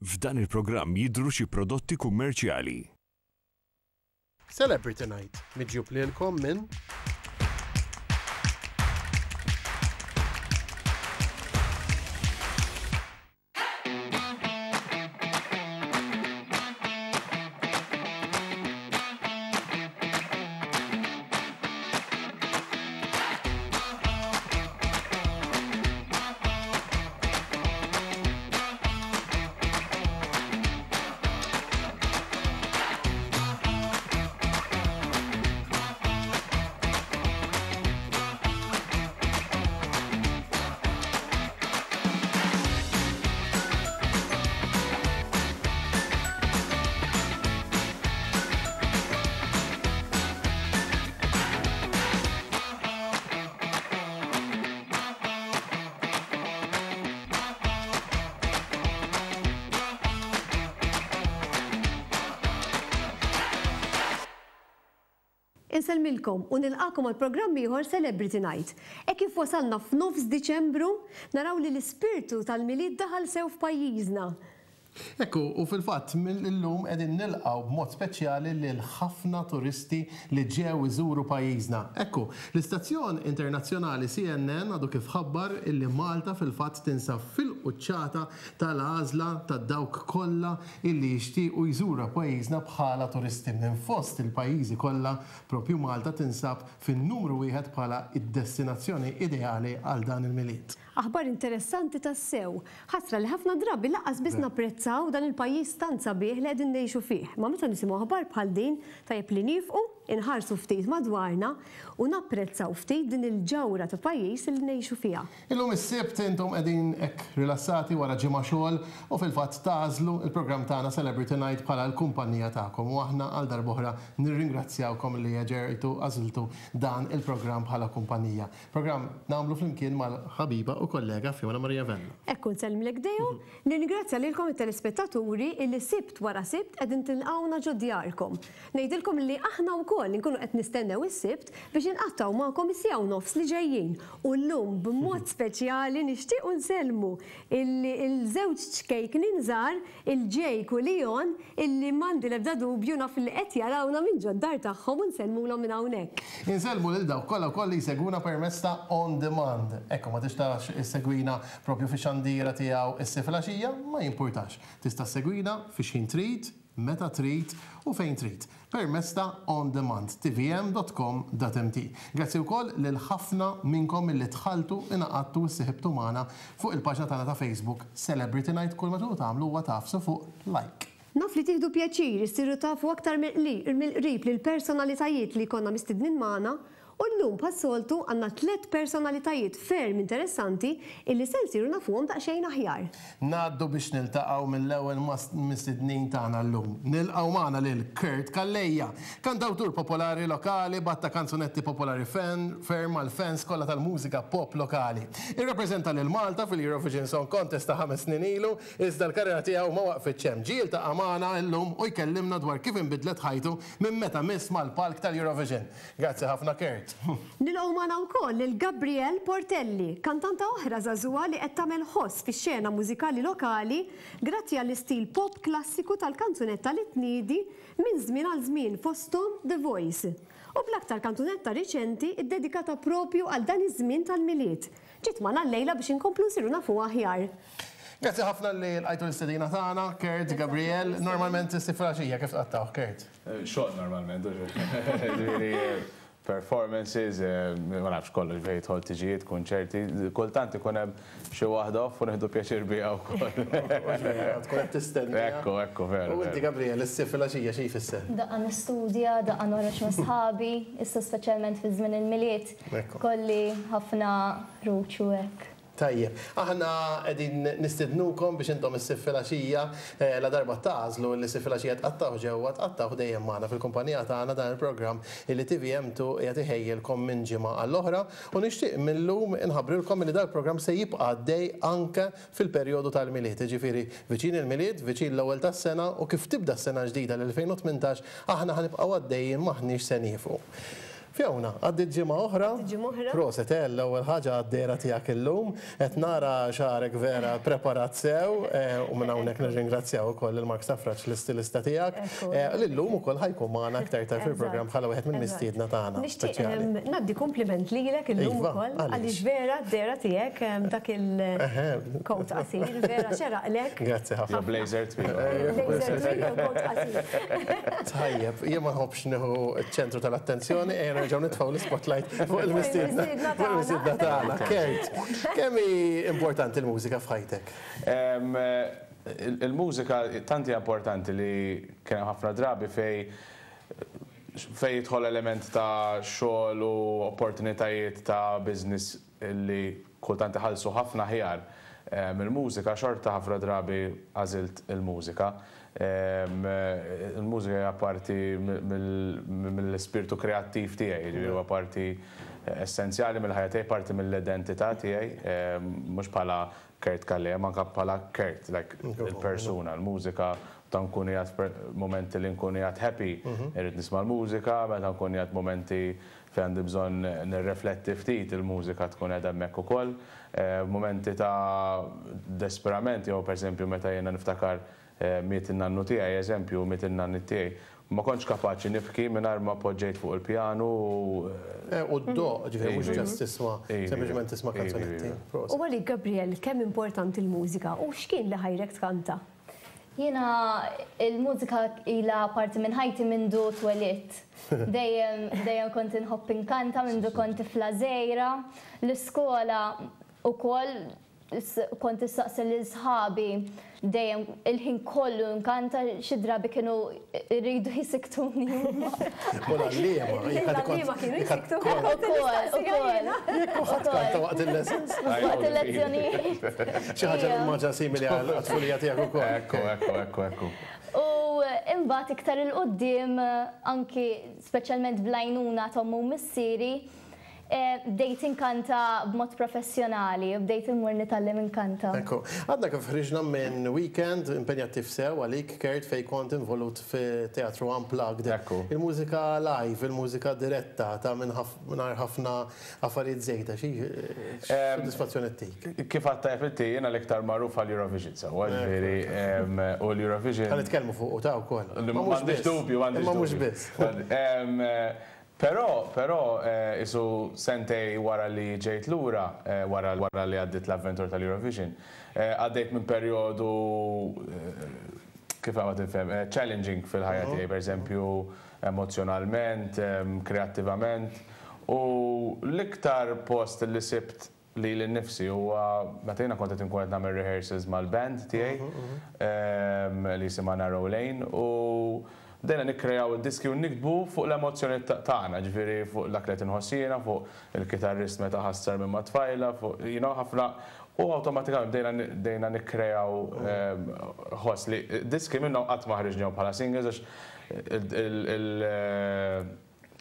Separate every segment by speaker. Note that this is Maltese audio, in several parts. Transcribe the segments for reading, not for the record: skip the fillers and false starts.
Speaker 1: F'dan il-programm jidhru xi prodotti kummerċjali.
Speaker 2: Celebrity Night, miġjub lilkom minn.
Speaker 3: Insellmilkom u nilqagħkom għal programm ieħor Celebrity Night. Hekk kif wasalna f'nofs Diċembru, naraw li l-ispirtu tal-Milied daħal sew f'pajjiżna.
Speaker 2: Hekk hu, u fil-fatt mill-illum qegħdin nilqgħu b'mod speċjali lil ħafna turisti li ġew iżuru pajjiżna. Hekk hu, l-istazzjon internazzjonali CNN għadu kif ħabbar illi Malta fil-fatt tinsab fil-quċċata tal-għażla ta' dawk kollha illi jixtiequ jżura pajjiżna bħala turisti. Minn fost il-pajjiżi kollha, propju Malta tinsab fin-numru wieħed bħala d-destinazzjoni ideali għal dan il-Milied.
Speaker 3: Aħbar interessanti tassew. Ħasra li ħafna drabi lanqas biss napprezzaw dan il-pajjiż tant sabiħ li qegħdin ngħixu fih. Imma meta nisimgħu aħbar bħal din, tajjeb li niefqu, inħarsu ftit madwarna u napprezzaw ftit din il-ġawhra ta' pajjiż li ngħixu fiha.
Speaker 2: Illum is-Sibt intom qegħdin hekk rilassati wara ġimgħa xogħol u fil-fatt tagħżlu l-programm tagħna Celebrity Night bħala l-kumpanija tagħkom u aħna għal darb'oħra nirringrazzjawkom li ġejtu għażiltu dan il-programm bħala kumpanija. Programm nagħmlu flimkien mal-ħabiba u kollega Fiona Maria Vella.
Speaker 3: Hekk hu nsellmlek Deo, nirringrazzja lilkom it-telespettaturi illi Sibt wara Sibt qegħdin tilqgħuna ġo djarkom. Ngħidilkom li aħna wkoll inkunu qed nistennew is-Sibt biex inqattgħu magħkom is-siegħa u nofs li ġejjin. U llum b'mod speċjali nixtiequ nsellmu il-żewġ ċkejknin żgħar, il-Jake u Leon, illi m'għandi l-ebda dubju naf li qed jarawna minn ġod-dar tagħhom u nsellmulhom minn hawnhekk.
Speaker 2: Insellmu lil dawk kollha wkoll li jsegwuna permezz ta' on demand. Hekk u ma tistax issegwina propju fix-xandira tiegħu issa filgħaxija, ma jimpurtax. Tista' ssegwina fi x'ħin trid, meta trid u fejn trid permezz ta' on demand, tvm.com.mt. Grazzi wkoll lil ħafna minnkom illi dħaltu, ingħaqadtu u ssiħibtu magħna fuq il-paġna tagħna ta' Facebook Celebrity Night kull ma tridu tagħmlu huwa tagħfsu fuq like.
Speaker 3: Naf li tieħdu pjaċir issiru tafu aktar mill-qrib lill-personalitajiet li jkollna mistednin magħna U llum bħas-soltu għandna tlett personalitajiet ferm interessanti illi se nsiru nafuhom daqsxejn aħjar.
Speaker 2: Ngħaddu biex niltaqgħu mill-ewwel mas-mistednin tagħna llum. Nilqgħu magħna lil Kurt Calleja, kantawtur popolari lokali b'għadd ta' kanzunetti popolari ferm għall-fans kollha tal-mużika pop lokali. Irrappreżenta lil Malta fil-Eurovision Song Contest ta' ħames snin ilu, iżda l-karriera tiegħu ma waqfitx hemm. Ġie jiltaqa' magħna llum u jkellimna dwar kif inbidlet ħajtu minn meta miss mal-palk tal-Eurovision. Grazzi ħafna Kurt.
Speaker 3: Nilqgħu magħna wkoll lil Gabrielle Portelli, kantanta oħra żagħżugħa li qed tagħmel ħoss fix-xena mużikali lokali grazzi għall-istil pop klassiku tal-kanzunetta li tniedi minn żmien għal żmien fosthom The Voice. U bl-aktar kanzunetta riċenti ddedikata propju għal dan iż-żmien tal-Milied. Ġiet magħna llejla biex inkomplu nsiru nafuha aħjar.
Speaker 2: Grazzi ħafna li lqajtu l-istedina tagħna, Kurt, Gabrielle. Normalment issib filgħaxija kif tqattgħuh, Kurt?
Speaker 4: Xogħol normalment, ġifieri performances, ma nafx kollox fejn jidħol tiġijiet, kunċerti, kultant ikun hemm xi waħda off u nieħdu pjaċir biha wkoll.
Speaker 2: Tkun qed tistenna.
Speaker 4: Ekku, ekku, veru.
Speaker 2: U inti Gabriel, issir filgħaxija xi jfisser?
Speaker 5: Daqqa nistudja, daqqa noħroġ ma' sħabi, issa speċjalment fi żmien il-Milied. Kolli ħafna ħruġ u hekk.
Speaker 2: Tajjeb. Aħna qegħdin nistidnukom biex intom is-Sibt filgħaxija, ladarba tagħżlu li s-Sibt filgħaxija tqattgħuh ġewwa, tqattgħuh dejjem magħna fil-kumpanija tagħna dan il-programm illi TVM2 qiegħed iħejjilkom minn ġimgħa għall-oħra u nixtieq mil-lum inħabbrilkom illi dal-programm se jibqa' għaddej anke fil-perjodu tal-Milied, jiġifieri viċin il-Milied, viċin l-ewwel tas-sena u kif tibda s-sena l-ġdida l-2018 aħna ħa nibqgħu għaddejjin m'aħniex se nieqfu. Fiona, għaddiet ġimgħa oħra.
Speaker 3: Għaddiet ġimgħa oħra.
Speaker 2: Proset, eh, l-ewwel ħaġa għad-dehra tiegħek illum. Qed nara xagħrek vera preparat sew u minn hawnhekk nirringrazzjaw ukoll lil Mark Safraġ l-istilista tiegħek. Li llum ukoll ħa jkun magħna aktar tard fil-programm bħala wieħed mill-mistiedna tagħna.
Speaker 3: Nixtieq ngħaddi kumpliment lilek illum ukoll għaliex vera d-dehra tiegħek dak il-coat qasir vera xeraqlek.
Speaker 2: Grazzi ħafna.
Speaker 4: Blazer twil.
Speaker 3: Blazer twil u coat qasir.
Speaker 2: Tajjeb, jien ma nħobbx nieħu ċ-ċentru tal-attenzjoni, ejja nerġgħu nitfgħu l-ispotlight fuq il-mistiedna fuq il-mistiedna tagħna. Kurt, kemm hi importanti l-mużika f'ħajtek?
Speaker 4: Il-mużika tant hija importanti li kien hemm ħafna drabi fejn fejn jidħol element ta' xogħol u opportunitajiet ta' business li kultant iħallsu ħafna aħjar mill-mużika, xorta ħafna drabi għażilt il-mużika. Il-mużika hija parti mill-ispirtu kreattiv tiegħi, jiġifieri huwa parti essenzjali mill-ħajja tiegħi, parti mill-identità tiegħi, mhux bħala Kurt Calleja, imma anke bħala Kurt, like il-persuna, l-mużika, meta nkun qiegħed f'mumenti li nkun qiegħed happy, irrid nisma' l-mużika, meta nkun qiegħed mumenti fejn għandi bżonn nirrifletti ftit, il-mużika tkun qiegħda hemmhekk ukoll. Mumenti ta' desperament jew pereżempju meta jiena niftakar miet in-nannu tiegħi, eżempju, miet in-nanniet tiegħi, ma kontx kapaċi nibki mingħajr ma poġġejt fuq il-pjanu u.
Speaker 2: U ddoqq, ġifieri mhux ġast tisma' sempliċement tisma' kanzunetti.
Speaker 3: U għalik Gabrielle, kemm importanti l-mużika u x'kien li ħajrek tkanta?
Speaker 5: Jiena l-mużika ilha parti minn ħajti mindu twelidt. Dejjem dejjem kont inħobb inkanta mindu kont tifla żgħira. L-iskola ukoll kont issaqsi lil sħabi dejjem il-ħin kollu nkanta xi drabi kienu jridu jisiktuni huma.
Speaker 2: U l-għalliema,
Speaker 3: L-għalliema kienu jisiktuni.
Speaker 5: Ukoll, ukoll.
Speaker 2: Jekk kulħadd kanta waqt il-lessons.
Speaker 5: Waqt il-lezzjonijiet.
Speaker 2: Xi ħaġa li maġa simili għat-tfulija tiegħek ukoll.
Speaker 4: Ekku, ekku, ekku, ekku.
Speaker 5: U imbagħad iktar 'il quddiem anki speċjalment bl-għajnuna t'ommi u missieri, Bdejt inkanta b'mod professjonali u bdejt immur nitgħallem inkanta.
Speaker 2: Ekku. Għadna kif ħriġna minn weekend impenjattiv sew għalik, Kurt, fejn kont involut fi teatru Unplugged.
Speaker 4: Ekku.
Speaker 2: Il-mużika live, il-mużika diretta ta' mingħajr ħafna affarijiet żejda, xi sodisfazzjon ittik?
Speaker 4: Kif għedt tajjeb inti, jiena l-iktar magħruf għall-Eurovision sewwa, ġifieri, u l-Eurovision.
Speaker 2: Ħa nitkellmu fuqu ta' wkoll.
Speaker 4: M'għandix dubju, m'għandix dubju.
Speaker 2: Imma mhux biss.
Speaker 4: Però, però, qisu sentej wara li ġejt lura, wara wara li għaddiet l-avventura tal-Eurovision, għaddejt minn perjodu, kif ma tinfhem, challenging fil-ħajja tiegħi, pereżempju emozzjonalment, kreattivament, u l-iktar post li sibt lili nnifsi huwa meta jiena kont qed inkun qed nagħmel rehearsals mal-band tiegħi li jisimha Narrow Lane u bdejna nikkreaw id-diski u niktbu fuq l-emozzjonijiet tagħna, ġifieri fuq dak li qed inħoss jiena, fuq il-kitarrist meta ħassar minn ma' tfajla, fuq you know ħafna u awtomatikament bdejna bdejna nikkreaw ħoss li diski minnhom qatt ma ħriġnihom bħala singles għax il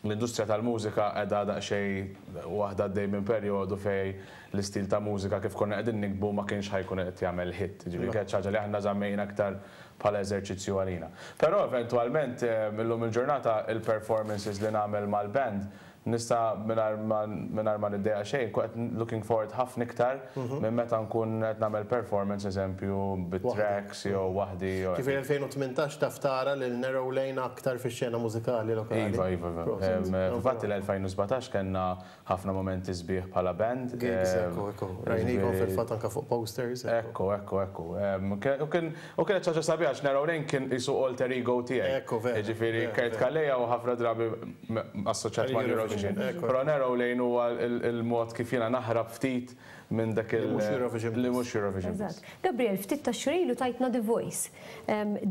Speaker 4: L-industrija tal-mużika qiegħda daqsxejn waħda għaddej minn perjodu fejn l-istil ta' mużika kif konna qegħdin niktbu ma kienx ħa jkun qed jagħmel hit. Jiġifieri kienet xi ħaġa li aħna żammejna aktar bħala eżerċizzju għalina. Però eventwalment illum il-ġurnata il-performances li nagħmel mal-band nista' mingħajr ma mingħajr ma niddejjaq xejn nkun qed looking forward ħafna iktar minn meta nkun qed nagħmel performance eżempju bit-tracks jew waħdi jew.
Speaker 2: Ġifieri 2018 taf tara lil Narrow Lane aktar fix-xena mużikali lokali.
Speaker 4: Iva, iva, iva. Fil-fatt il-2017 kellna ħafna mumenti sbieħ bħala band.
Speaker 2: Gigs, ekku, ekku. Rajnikom fil-fatt anke fuq posters.
Speaker 4: Ekku, ekku, ekku. U kien u kienet xi ħaġa sabiħa għax Narrow Lane kien qisu alter ego tiegħi.
Speaker 2: Ekku, vera.
Speaker 4: Jiġifieri Kurt Calleja hu ħafna drabi assoċjat mal-Eurovision. Però Narrow Lane huwa l-mod kif jiena naħrab ftit minn dak il.
Speaker 2: Li mhux Eurovision biss.
Speaker 4: Li mhux Eurovision biss.
Speaker 3: Eżatt. Gabriel, ftit tax-xhur ilu tajtna The Voice,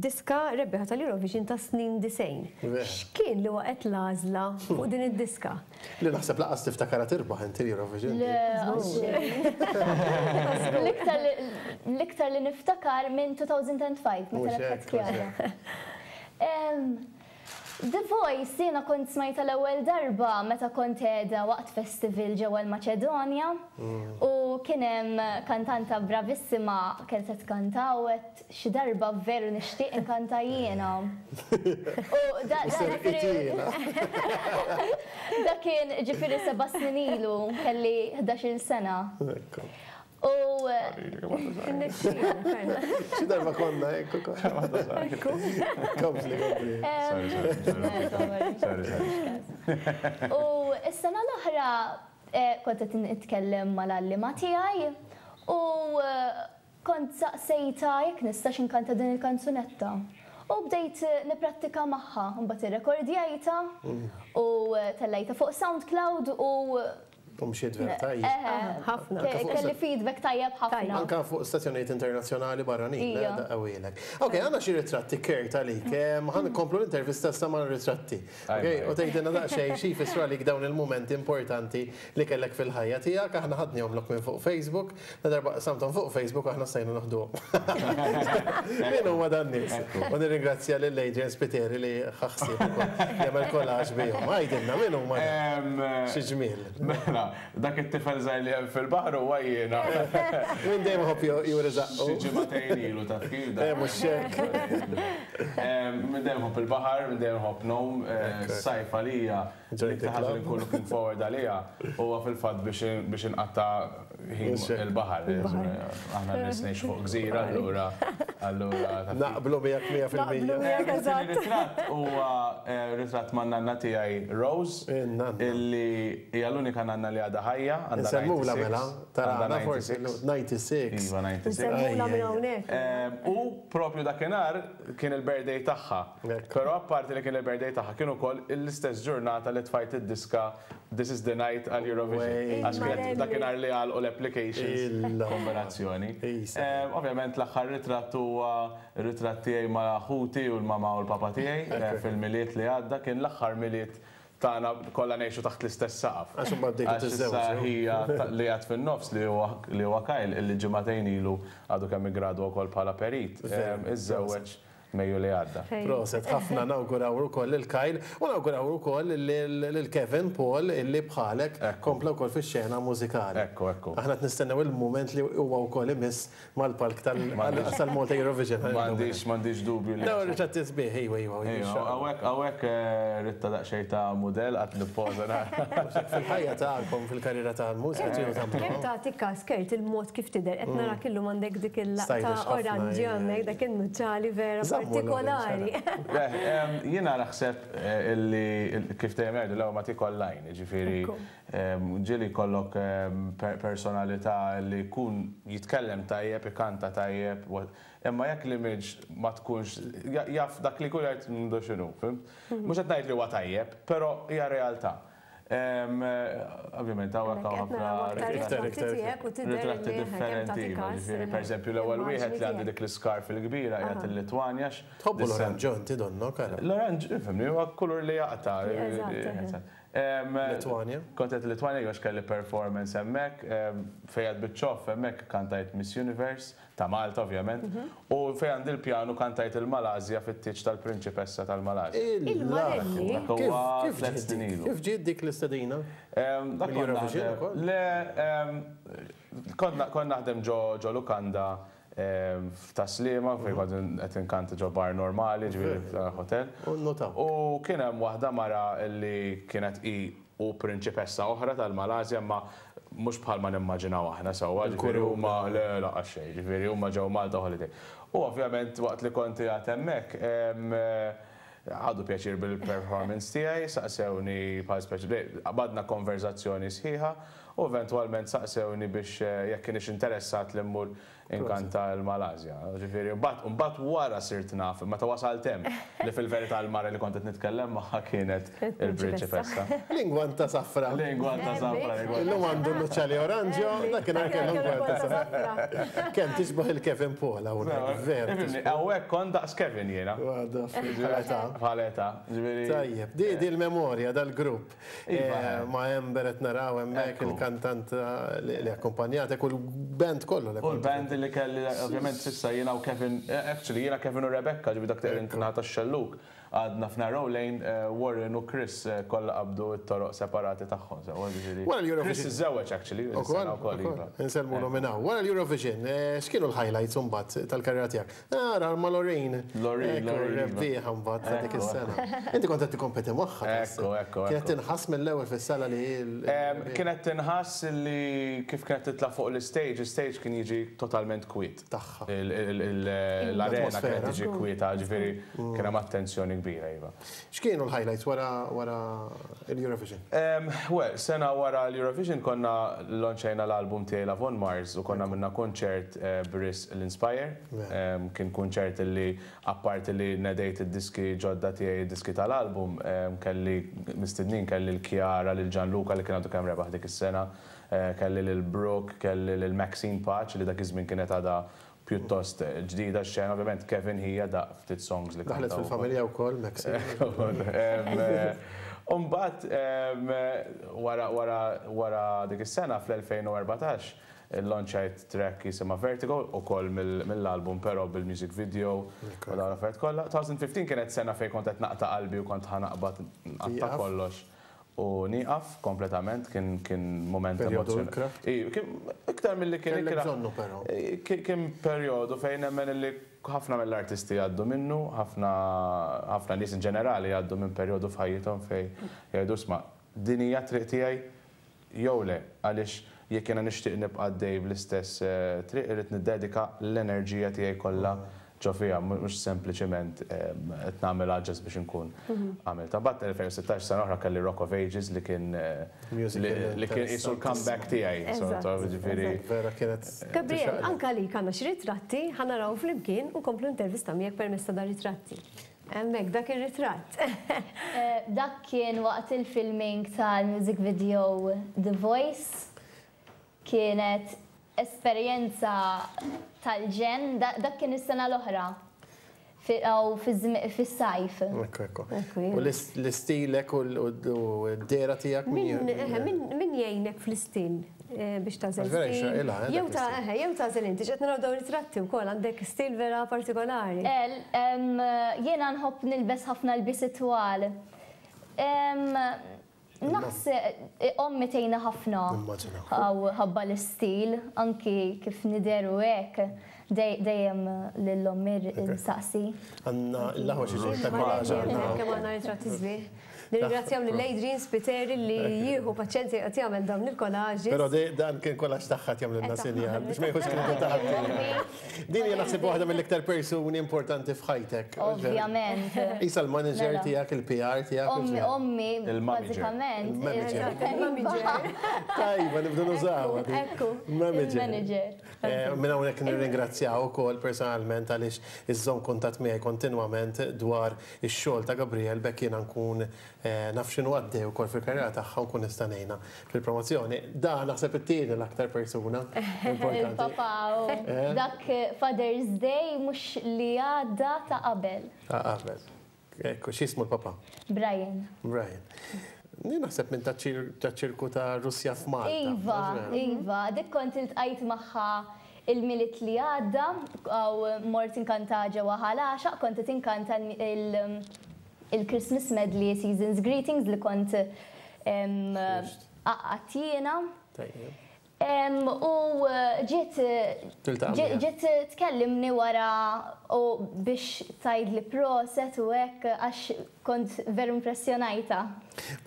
Speaker 3: diska rebbieħa tal-Eurovision tas-snin 90. X'kien li waqgħet l-għażla fuq din id-diska?
Speaker 2: Li naħseb lanqas tiftakarha tirbaħ inti l-Eurovision.
Speaker 5: Le, L-iktar l-iktar li niftakar minn 2005 meta rebħet Chiara. The Voice jiena kont smajtha l-ewwel darba meta kont qiegħda waqt festival ġewwa l-Maċedonja u kien hemm kantanta bravissima kienet qed tkanta u għedt xi darba veru nixtieq inkanta jiena. U da ġifieri da kien ġifieri seba' snin ilu, kelli ħdax-il sena. U.
Speaker 2: Xi darba konna hekk ukoll. Kompli, kompli.
Speaker 4: Sorry, sorry.
Speaker 5: U s-sena l-oħra kont qed nitkellem mal-għalliema tiegħi u kont saqsejtha jekk nistax inkanta din il-kanzunetta. U bdejt nipprattika magħha, imbagħad irrekordjajtha u tellajtha fuq SoundCloud u
Speaker 2: U mxiet vera tajjeb.
Speaker 3: Ħafna.
Speaker 5: Kelli feedback tajjeb ħafna.
Speaker 2: Anka fuq stazzjonijiet internazzjonali barranin, daqqawilek. Ok, għandna xi ritratti Kurt għalik. Ħa nkomplu l-intervista issa mar-ritratti. Ok, u tgħidilna daqsxejn xi jfissru għalik dawn il-mumenti importanti li kellek fil-ħajja tiegħek. Aħna ħadnihomlok minn fuq Facebook. La darba qsamthom fuq Facebook aħna stajna noħduhom. Min huma dan-nies? U nirringrazzja lil Adrian Spiteri li ħa ħsieb ukoll jagħmel collage bihom. Għidilna min huma dawn? Xi ġmiel.
Speaker 4: Mela, dak it-tifel żgħir li hemm fil-baħar huwa jiena.
Speaker 2: Min dejjem iħobb juri żaqqu.
Speaker 4: Xi ġimagħtejn ilu taf kif dak.
Speaker 2: Eh mhux hekk.
Speaker 4: Min dejjem iħobb il-baħar, min dejjem iħobb ngħum. Is-sajf għalija l-iktar ħaġa li nkun looking forward għaliha huwa fil-fatt biex inqatta' ħin il-baħar. Aħna nies ngħixu fuq gżira allura allura.
Speaker 2: Naqblu miegħek 100%.
Speaker 3: Naqblu miegħek eżatt.
Speaker 4: Ritratt huwa ritratt man-nanna tiegħi Rose.
Speaker 2: In-nanna.
Speaker 4: Illi hija l-unika nanna li għadha ħajja, għandha 96.
Speaker 2: Insemmulha mela, tarana forsi. 96.
Speaker 4: Iva 96.
Speaker 3: Insemmulha minn hawnhekk.
Speaker 4: U propju dakinhar kien il-birthday tagħha. Però apparti li kien il-birthday tagħha kien ukoll l-istess ġurnata li tfajt id-diska This is the night għal Eurovision. Għax kienet dakinhar li għalqu l-applications. Kombinazzjoni. Ovvjament l-aħħar ritratt huwa r-ritratt tiegħi ma' ħuti u l-mamà u l-papà tiegħi fil-Milied li għadda. Kien l-aħħar Milied tagħna kollha ngħixu taħt l-istess saqaf.
Speaker 2: Għax imbagħad bdejtu tiżżewġu.
Speaker 4: Għax issa ħija li għad fin-nofs li huwa li huwa Kyle illi ġimagħtejn ilu għadu kemm iggradwa wkoll bħala perit, iżżewweġ Mejju li għadda.
Speaker 2: Proset ħafna nawguraw ukoll lil Kyle u nawguraw ukoll lil Kevin Paul illi bħalek kompla wkoll fix-xena mużikali.
Speaker 4: Ekku, ekku.
Speaker 2: Aħna qed nistennew il-mument li huwa wkoll imiss mal-palk tal-Malta Eurovision.
Speaker 4: M'għandix, m'għandix dubju li.
Speaker 2: Dawn ir-ritratti sbieħ, iva, iva.
Speaker 4: Iva, hawnhekk, hawnhekk ritta daqsxejn ta' mudell qatt nippoża nara.
Speaker 2: Fil-ħajja tagħkom, fil-karriera tal-mużika tridu tagħmlu.
Speaker 3: Kemm tagħti kas Kurt il-mod kif tidher, qed narak illum għandek dik il-laqta oranġjo hemmhekk, dak in-nuċċali vera partikolari.
Speaker 4: Jiena naħseb illi kif dejjem jgħidu l-ewwel ma tiekol l-għajn, jiġifieri Ġieli jkollok personalità li jkun jitkellem tajjeb, ikanta tajjeb, imma jekk l-image ma tkunx, jaf dak li jkun jgħid m'għandu x'inhu, fhimt? Mhux qed ngħid li huwa tajjeb, però hija realtà. Ovvjament hawnhekk hawn ħafna ritratti differenti, jiġifieri pereżempju l-ewwel wieħed li għandi dik l-iscarf il-kbira qiegħed il-Litwanja.
Speaker 2: Tħobbu l-oranġjo inti donnok ara.
Speaker 4: L-oranġ, ifhimni, huwa kulur li jaqta'.
Speaker 2: Litwanja?
Speaker 4: Kont qed Litwanja għax kelli performance hemmhekk, fejn għad biċ-ċoff hemmhekk kantajt Miss Universe, ta' Malta ovvjament, u fejn għandi l-pjanu kantajt il-Malasja fit-tieġ tal-Prinċipessa tal-Malasja.
Speaker 3: Il-Marelli?
Speaker 4: Dak huwa tliet snin ilu.
Speaker 2: Kif ġiet dik l-istedina? Mill-Eurovision ukoll?
Speaker 4: Le, kont naħdem ġo lukanda F'Tas-Sliema, fejn kont qed inkanta ġo bar normali, ġifieri hotel.
Speaker 2: U nnutaw.
Speaker 4: U kien hemm waħda mara li kienet hi u prinċipessa oħra tal-Malasja imma mhux bħalma nimmaġinaw aħna sewwa, ġifieri huma le lanqas xejn, ġifieri huma ġew Malta holiday. U ovvjament waqt li kont qiegħed hemmhekk, ħadu pjaċir bil-performance tiegħi, saqsewni bħal speċi, qbadna konverżazzjoni sħiħa u eventwalment saqsewni biex jekk kienx interessat li mmur Inkanta l-Malasja. Ġifieri, mbagħad mbagħad wara sirt naf, meta wasalt hemm, li fil-verità l-mara li kont qed nitkellem magħha kienet il-prinċipessa.
Speaker 2: L-ingwanta safra.
Speaker 4: L-ingwanta safra.
Speaker 2: Illum għandu nuċċali oranġjo, dakinhar kellu ngwanta safra. Kemm tixbah il-Kevin Paul hawnhekk, vera.
Speaker 4: Hawnhekk kont daqs Kevin jiena.
Speaker 2: Bħala età.
Speaker 4: Bħala età. Ġifieri.
Speaker 2: Tajjeb, di l-memorja dal-grupp. Ma' Amber qed naraw hemmhekk il-kantant li akkumpanjatek u l-band kollu li
Speaker 4: U l-band li kelli ovvjament s'issa jiena u Kevin, actually jiena Kevin u Rebecca, ġifieri dak li qegħdin naħa tax-xellug. għadna f'Narrow Lane, Warren u Chris kollha qabdu t-toroq separati tagħhom. Sewwa ġifieri.
Speaker 2: Wara l-Eurovision.
Speaker 4: Chris iżżewweġ actually.
Speaker 2: Ukoll, ukoll. Insellmulu minn hawn. Wara l-Eurovision, x'kienu l-highlights imbagħad tal-karriera tiegħek? Ara, ma' Loreen.
Speaker 4: Loreen, Loreen.
Speaker 2: Rebbieħa mbagħad ta' dik is-sena. Inti kont qed tikkompeti magħha.
Speaker 4: Ekku, ekku.
Speaker 2: Kienet tinħass mill-ewwel fis-sala li
Speaker 4: Kienet tinħass li kif kienet titla' fuq l-istage, l-istage kien jiġi totalment kwiet.
Speaker 2: Tagħha.
Speaker 4: L-arena kienet tiġi kwieta, ġifieri kien hemm attenzjoni kbira, iva.
Speaker 2: X'kienu l-highlights wara wara l-Eurovision?
Speaker 4: Well, sena wara l-Eurovision konna launchajna l-album tiegħi Love on Mars u konna għamilna kunċert b'risq l-Inspire. Kien kunċert li apparti li nedejt id-diski ġodda tiegħi, id-diski tal-album, kelli mistednin, kelli lil Chiara, lil Gianluca li kien għadu kemm rebaħ dik is-sena, kelli lil Brooke, kelli lil Maxine Pace li dak iż-żmien kienet għadha pjuttost ġdida x-xena, ovvjament Kevin ħija daqq ftit songs li
Speaker 2: Daħlet fil-familja wkoll Maxine.
Speaker 4: U mbagħad wara wara wara dik is-sena fl-2014 Illonċajt track jisimha Vertigo, ukoll mill-album però bil-music video u dawn l-affarijiet kollha. 2015 kienet sena fejn kont qed naqta' qalbi u kont ħa naqbad nqatta' kollox u nieqaf kompletament, kien kien mument
Speaker 2: emozzjonali.
Speaker 4: Iktar milli kien
Speaker 2: ikrah. Kellek bżonnu però.
Speaker 4: Kien perjodu fejn nemmen illi ħafna mill-artisti jgħaddu minnu, ħafna ħafna nies in ġenerali jgħaddu minn perjodu f'ħajjithom fejn jgħidu isma' din hija t-triq tiegħi, Jew le, għaliex jekk jiena nixtieq nibqa' għaddej bl-istess triq irrid niddedika l-enerġija tiegħi kollha ġo fiha, mhux sempliċiment qed nagħmilha just biex inkun għamiltha. Mbagħad 2016 sena oħra kelli Rock of Ages li kien li kien qisu l-comeback tiegħi, sort of, jiġifieri.
Speaker 2: Vera kienet.
Speaker 3: Gabriel, anke għalik għandna xi ritratti, ħa naraw flimkien u nkomplu intervista miegħek permezz ta' dar-ritratti. Hemmhekk dak ir-ritratt.
Speaker 5: Dak kien waqt il-filming tal-music video The Voice. Kienet esperjenza tal-ġenn, dak kien is-sena l-oħra, fis-sajf.
Speaker 2: Ekku, ekku. U l-istilek u d-dehra tiegħek
Speaker 3: min. Min jgħinek fl-istil? Biex tagħżel stil. Jew ta' eħe, jew tagħżel inti, x'qed naraw dawn ritratti wkoll għandek stil vera partikolari.
Speaker 5: Jiena nħobb nilbes ħafna lbiesi twal. Naħseb ommi tgħinna ħafna ħabba l-istil, anki kif nidher u hekk, dejjem lil ommi nsaqsi.
Speaker 2: Għandna l-aħwa xi ġejt ta'
Speaker 3: Kemm għandna ritratti sbieħ. Nirringrazzjaw lil Adrian Spiteri li jieħu paċenzja joqgħod jagħmel dawn il-collages.
Speaker 2: Però dan kien collage tagħha qed jagħmlilna sinjal biex ma jieħux kreditu ta' ħaddieħor. Din hija naħseb waħda mill-iktar persuni importanti f'ħajtek.
Speaker 5: Ovvjament.
Speaker 2: Qisha l-manager tiegħek, il-PR tiegħek.
Speaker 5: Ommi, ommi, bażikament.
Speaker 2: Il-manager. Tajba, nibdu nużawha.
Speaker 3: Ekku.
Speaker 2: Manager. Minn hawnhekk nirringrazzjaha wkoll personalment għaliex iżżomm kuntatt miegħi kontinwament dwar ix-xogħol ta' Gabriel b'hekk jiena nkun naf x'inhu għaddej ukoll fil-karriera tagħha u nkun nista' ngħinha fil-promozzjoni. Da naħseb it-tieni l-aktar persuna importanti.
Speaker 5: Il-papà u dak Father's Day mhux li għadda ta' qabel.
Speaker 2: Ta' qabel. Ekku, x'jismu l-papà?
Speaker 5: Brian.
Speaker 2: Brian. Jien naħseb minn taċ-ċirku ta' Russja f'Malta.
Speaker 5: Iva, iva, dik kont iltqajt magħha Il-Milied li għadda, u mort inkanta ġewwa Ħal Għaxaq, kont qed inkanta il-Christmas medley Season's Greetings li kont għaqqadt jiena. U ġiet ġiet tkellimni wara u biex tgħidli proset u hekk għax kont veru impressjonajtha.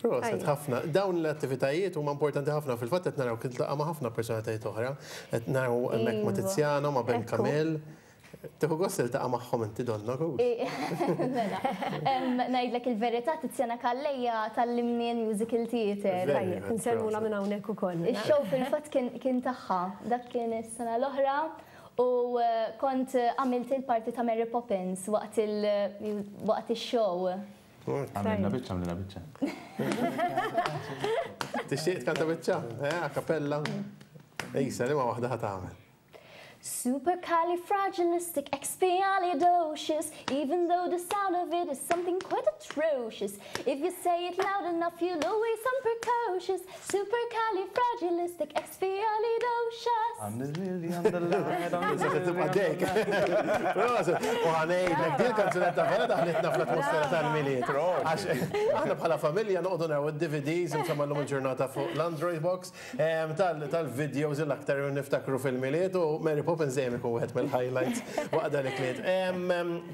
Speaker 2: Proset ħafna. Dawn l-attivitajiet huma importanti ħafna. Fil-fatt qed naraw kien tiltaqa' ma' ħafna personalitajiet oħra. Qed naraw hemmhekk ma' Tiziano, ma' Ben Camille. Tieħu gost tiltaqa' magħhom inti donnok hux?
Speaker 5: Mela. Ngħidlek il-verità Tiziana Calleja tgħallimni l-musical theatre.
Speaker 3: Tajjeb, insellmulha minn hawnhekk ukoll.
Speaker 5: Ix-show fil-fatt kien tagħha. Dak kien is-sena l-oħra u kont għamilt il-parti ta' Mary Poppins waqt ix-show.
Speaker 4: Għamlilna biċċa, għamlilna biċċa.
Speaker 2: Tixtieq tkanta biċċa? Eh, a cappella? Isa, liema waħda ħa tagħmel?
Speaker 5: Supercalifragilisticexpialidocious, even though the sound of it is something quite atrocious. If you say it loud enough, you'll always sound precocious. Supercalifragilisticexpialidocious. il-ħoss.
Speaker 4: I'm the lily on the light, I'm the
Speaker 2: Se
Speaker 4: lily
Speaker 2: tibqa'
Speaker 4: on the
Speaker 2: dejk. Proset. U ħa ngħidlek, din il-kanzunetta vera daħlitna fl-atmosfera tal-Milied. Għax aħna bħala familja noqogħdu naraw id-DVDs, insomma llum il-ġurnata fuq l-Android box, tal-videos l-aktar niftakru fil-Milied u Mary Poppins dejjem ikun wieħed mill-highlights waqt dan il-kliet.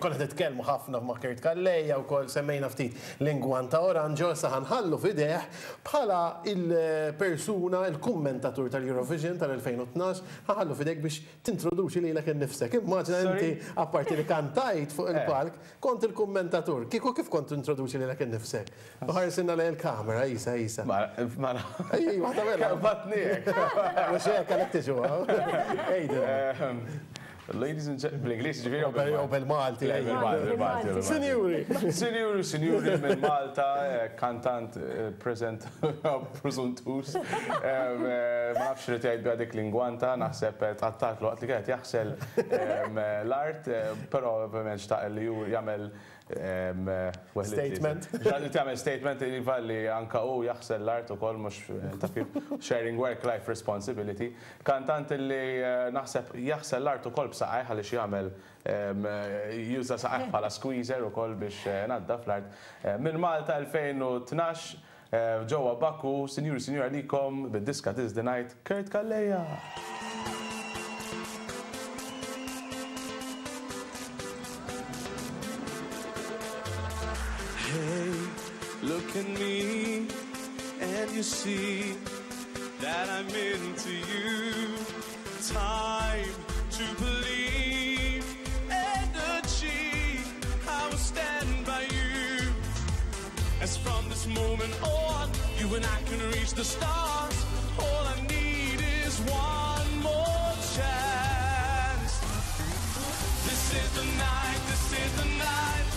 Speaker 2: Konna qed nitkellmu ħafna ma' Kurt Calleja wkoll semmejna ftit l-ingwanta oranġo, issa ħa nħallu f'idejh bħala il-persuna, il-kummentatur tal-Eurovision tal-2012, ħa nħallu f'idejk biex tintroduċi lilek innifsek. Immaġina inti apparti li kantajt fuq il-palk, kont il-kummentatur. Kieku kif kont tintroduċi lilek innifsek? U ħarsinna lejn il-kamera, isa, isa.
Speaker 4: Ma, ma.
Speaker 2: Ej, waħda bella.
Speaker 4: Batni hekk.
Speaker 2: Mhux hekk għalhekk tiġu. Ejda.
Speaker 4: Ladies and gentlemen, bl-Ingliż ġifieri
Speaker 2: jew bil-Malti.
Speaker 4: Le, bil-Malti, bil-Malti.
Speaker 2: Sinjuri.
Speaker 4: Sinjuri, sinjuri minn Malta, kantant, present, preżuntus. Ma nafx li tgħid biha dik l-ingwanta, naħseb tqattat waqt li kienet jaħsel l-art, però ovvjament xtaq li ju jagħmel
Speaker 2: Statement.
Speaker 4: Li tagħmel statement li iva li anka hu jaħsel l-art ukoll mhux ta' kif sharing work life responsibility. Kantant li naħseb jaħsel l-art ukoll b'saqajh għaliex jagħmel juża saqajh bħala squeezer ukoll biex naddaf l-art. Minn Malta 2012 ġewwa Baku, sinjuri sinjura likom bid-diska This the Night, Kurt Calleja.
Speaker 6: Hey, look at me and you see that I'm into you. Time to believe and achieve. I will stand by you. As from this moment on, you and I can reach the stars. All I need is one more chance. This is the night, this is the night.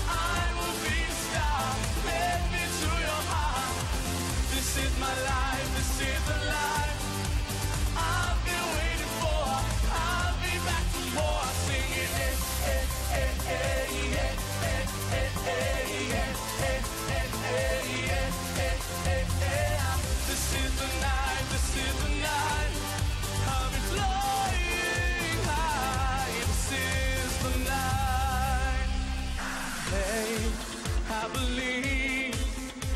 Speaker 6: I will be the star. Let me to your heart. This is my life, this is the life I've been waiting for. I'll be back for more. Singing, eh, eh, eh, eh, eh, eh, eh, eh, eh, eh, eh, eh, eh, eh, eh. This is the night, this is the night. I'll be flying high. This is the night. Hey, I believe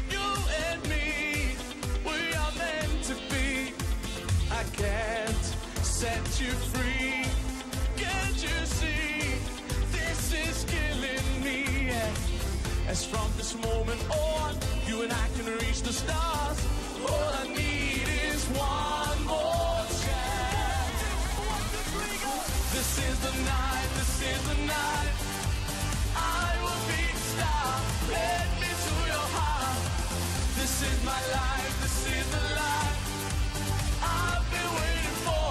Speaker 6: you and me, we are meant to be. I can't set you free. Can't you see? This is killing me. As from this moment on, you and I can reach the stars. All I need is one more chance. This is the night, this is the night. I will be the star. Let me to your heart. This is my life, this is the life I've been waiting for.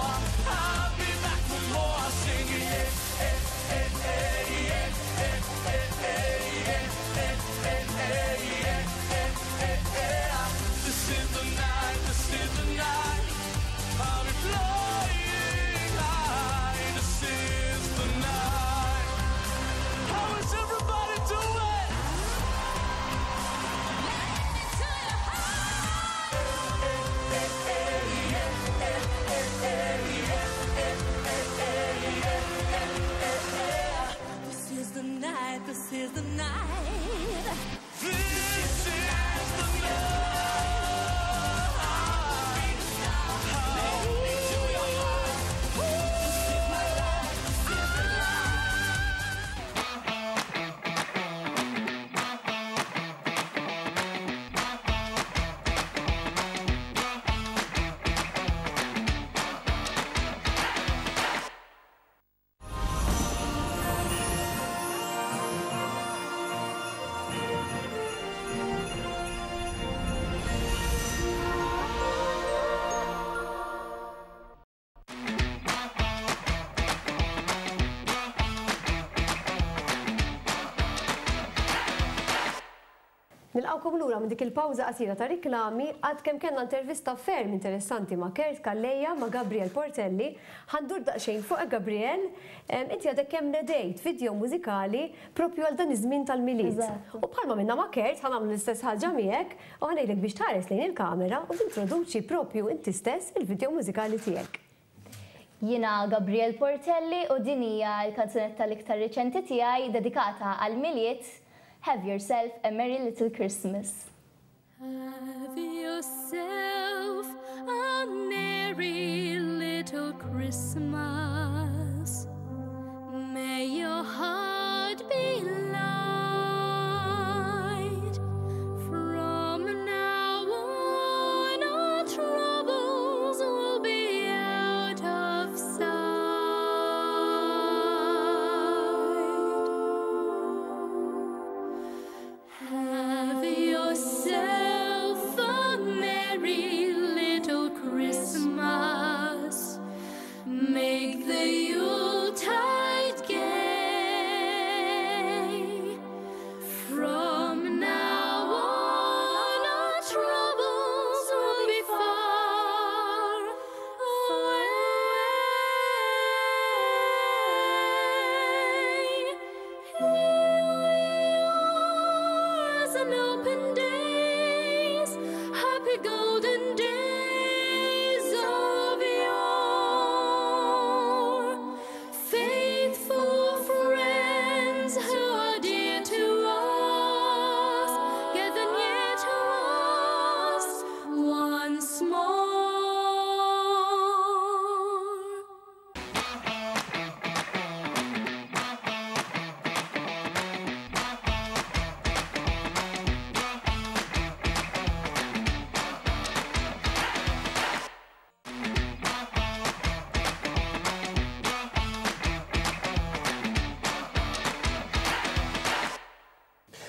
Speaker 6: I'll be back for more. Singing, eh, eh, eh, eh, eh, eh, eh, eh, eh, eh, eh, eh, eh, eh, eh. This is the night, this is the night. I'll be flying high. This is the night. How is everybody doing?
Speaker 7: This is the night, this is the night.
Speaker 6: This is the night.
Speaker 7: This is my life, this is the life.
Speaker 3: Nilqawkom lura minn dik il-pawża qasira ta' riklami għad kemm kellna intervista ferm interessanti ma' Kurt Calleja, ma' Gabriel Portelli. Ħa ndur daqsxejn fuq Gabriel, inti għadek kemm nedejt video mużikali propju għal dan iż-żmien tal-Milied.
Speaker 5: Eżatt.
Speaker 3: U bħalma minna ma' Kurt ħa nagħmlu l-istess ħaġa miegħek u ħa ngħidlek biex tħares lejn il-kamera u tintroduċi propju inti stess il-video mużikali tiegħek.
Speaker 5: Jiena Gabrielle Portelli u din hija l-kanzunetta l-iktar riċenti tiegħi dedikata għall-Milied, Have Yourself a Merry Little Christmas.
Speaker 8: Have yourself a merry little Christmas. May your heart be light. From now on, all troubles will be out of sight. Have yourself a merry little Christmas. Make the Yuletide gay. From now on, our troubles will be far away. Here we are as an open days, happy golden days of yore. Faithful friends who are dear to us, gather near to us once more.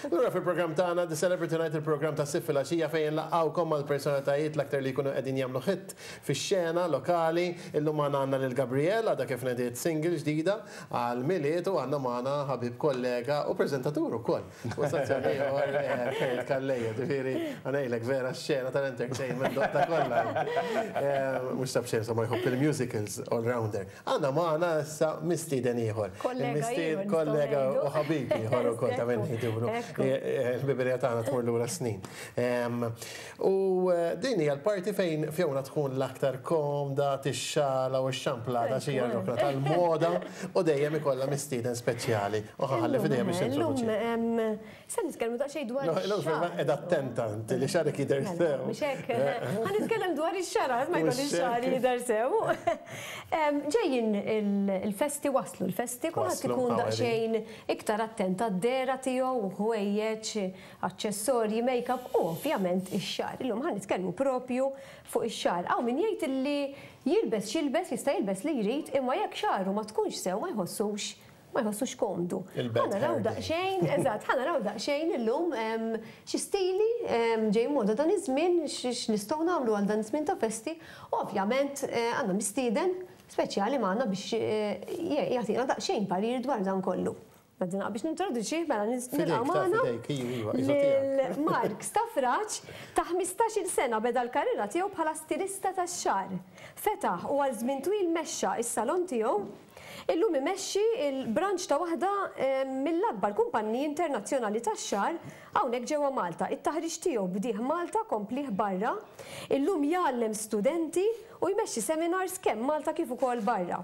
Speaker 2: Lura fil-programm tagħna The Celebrity Night, il-programm ta' Sibt filgħaxija fejn nlaqgħukom mal-personalitajiet l-aktar li jkunu qegħdin jagħmlu hit fix-xena lokali. Illum magħna għandna lil Gabrielle għadha kif nediet single ġdida għal Milied u għandna magħna ħabib kollega u preżentatur ukoll. U stazzjon ieħor Kurt Calleja, ġifieri ngħidlek vera x-xena tal-entertainment doqtha kollha. Mhux ta' b'xejn insomma jħobb il-musicals all-rounder. Għandna magħna issa mistieden ieħor.
Speaker 3: Kollega ieħor nistgħu
Speaker 2: Kollega
Speaker 3: ngħidu.
Speaker 2: u ħabib ieħor ukoll ta' min ngħidulu. Il-biberija tagħna tmur lura snin. U din hija l-parti fejn Fiona tkun l-aktar komda, tixxala u x-xamplata xi hija r-rokna tal-moda u dejjem ikollha mistieden speċjali. U ħalli f'idejha biex
Speaker 3: Illum
Speaker 2: tintroduċi.
Speaker 3: se nitkellmu daqsxejn dwar
Speaker 2: Illum
Speaker 3: ix-xagħar.
Speaker 2: qiegħda attenta inti li xagħrek jidher
Speaker 3: Mela,
Speaker 2: sew.
Speaker 3: Mhux hekk. Ħa nitkellem dwar ix-xagħar, ma jkollix
Speaker 2: Mhux
Speaker 3: xagħar
Speaker 2: hekk.
Speaker 3: jidher sew. Ġejjin il-festi waslu l-festi, kulħadd
Speaker 2: Waslu,
Speaker 3: ikun
Speaker 2: hawn
Speaker 3: daqsxejn iktar attent għad-dehra tiegħu, ħwejjeġ, aċċessorji, make-up u ovvjament ix-xagħar. Illum ħa nitkellmu propju fuq ix-xagħar. Hawn min jgħid illi jilbes x'jilbes, jista' jilbes li jrid, imma jekk xagħru ma tkunx sew ma jħossux ma jħossux komdu.
Speaker 2: Il-bad
Speaker 3: Ħa naraw
Speaker 2: hair day.
Speaker 3: daqsxejn, eżatt, ħa naraw daqsxejn illum xi stili ġej moda dan iż-żmien, x'nistgħu nagħmlu għal dan iż-żmien ta' festi, u ovvjament għandna mistieden speċjali magħna biex jagħtina daqsxejn parir dwar dan kollu. Għaddina biex nintroduċi, mela
Speaker 2: Fidejk,
Speaker 3: nilqgħu
Speaker 2: ta'
Speaker 3: magħna
Speaker 2: fidejk, iva, iva, iva tiegħek.
Speaker 3: lil Mark Stafrace ta' 15-il sena beda l-karriera tiegħu bħala stilista tax-xagħar. Fetaħ u għal żmien twil mexxa s-salon tiegħu. Illum imexxi il-branch ta' waħda mill-akbar kumpanniji internazzjonali tax-xagħar hawnhekk ġewwa Malta. It-taħriġ tiegħu bdieh Malta komplih barra. Illum jgħallem studenti u jmexxi seminars kemm Malta kif ukoll barra.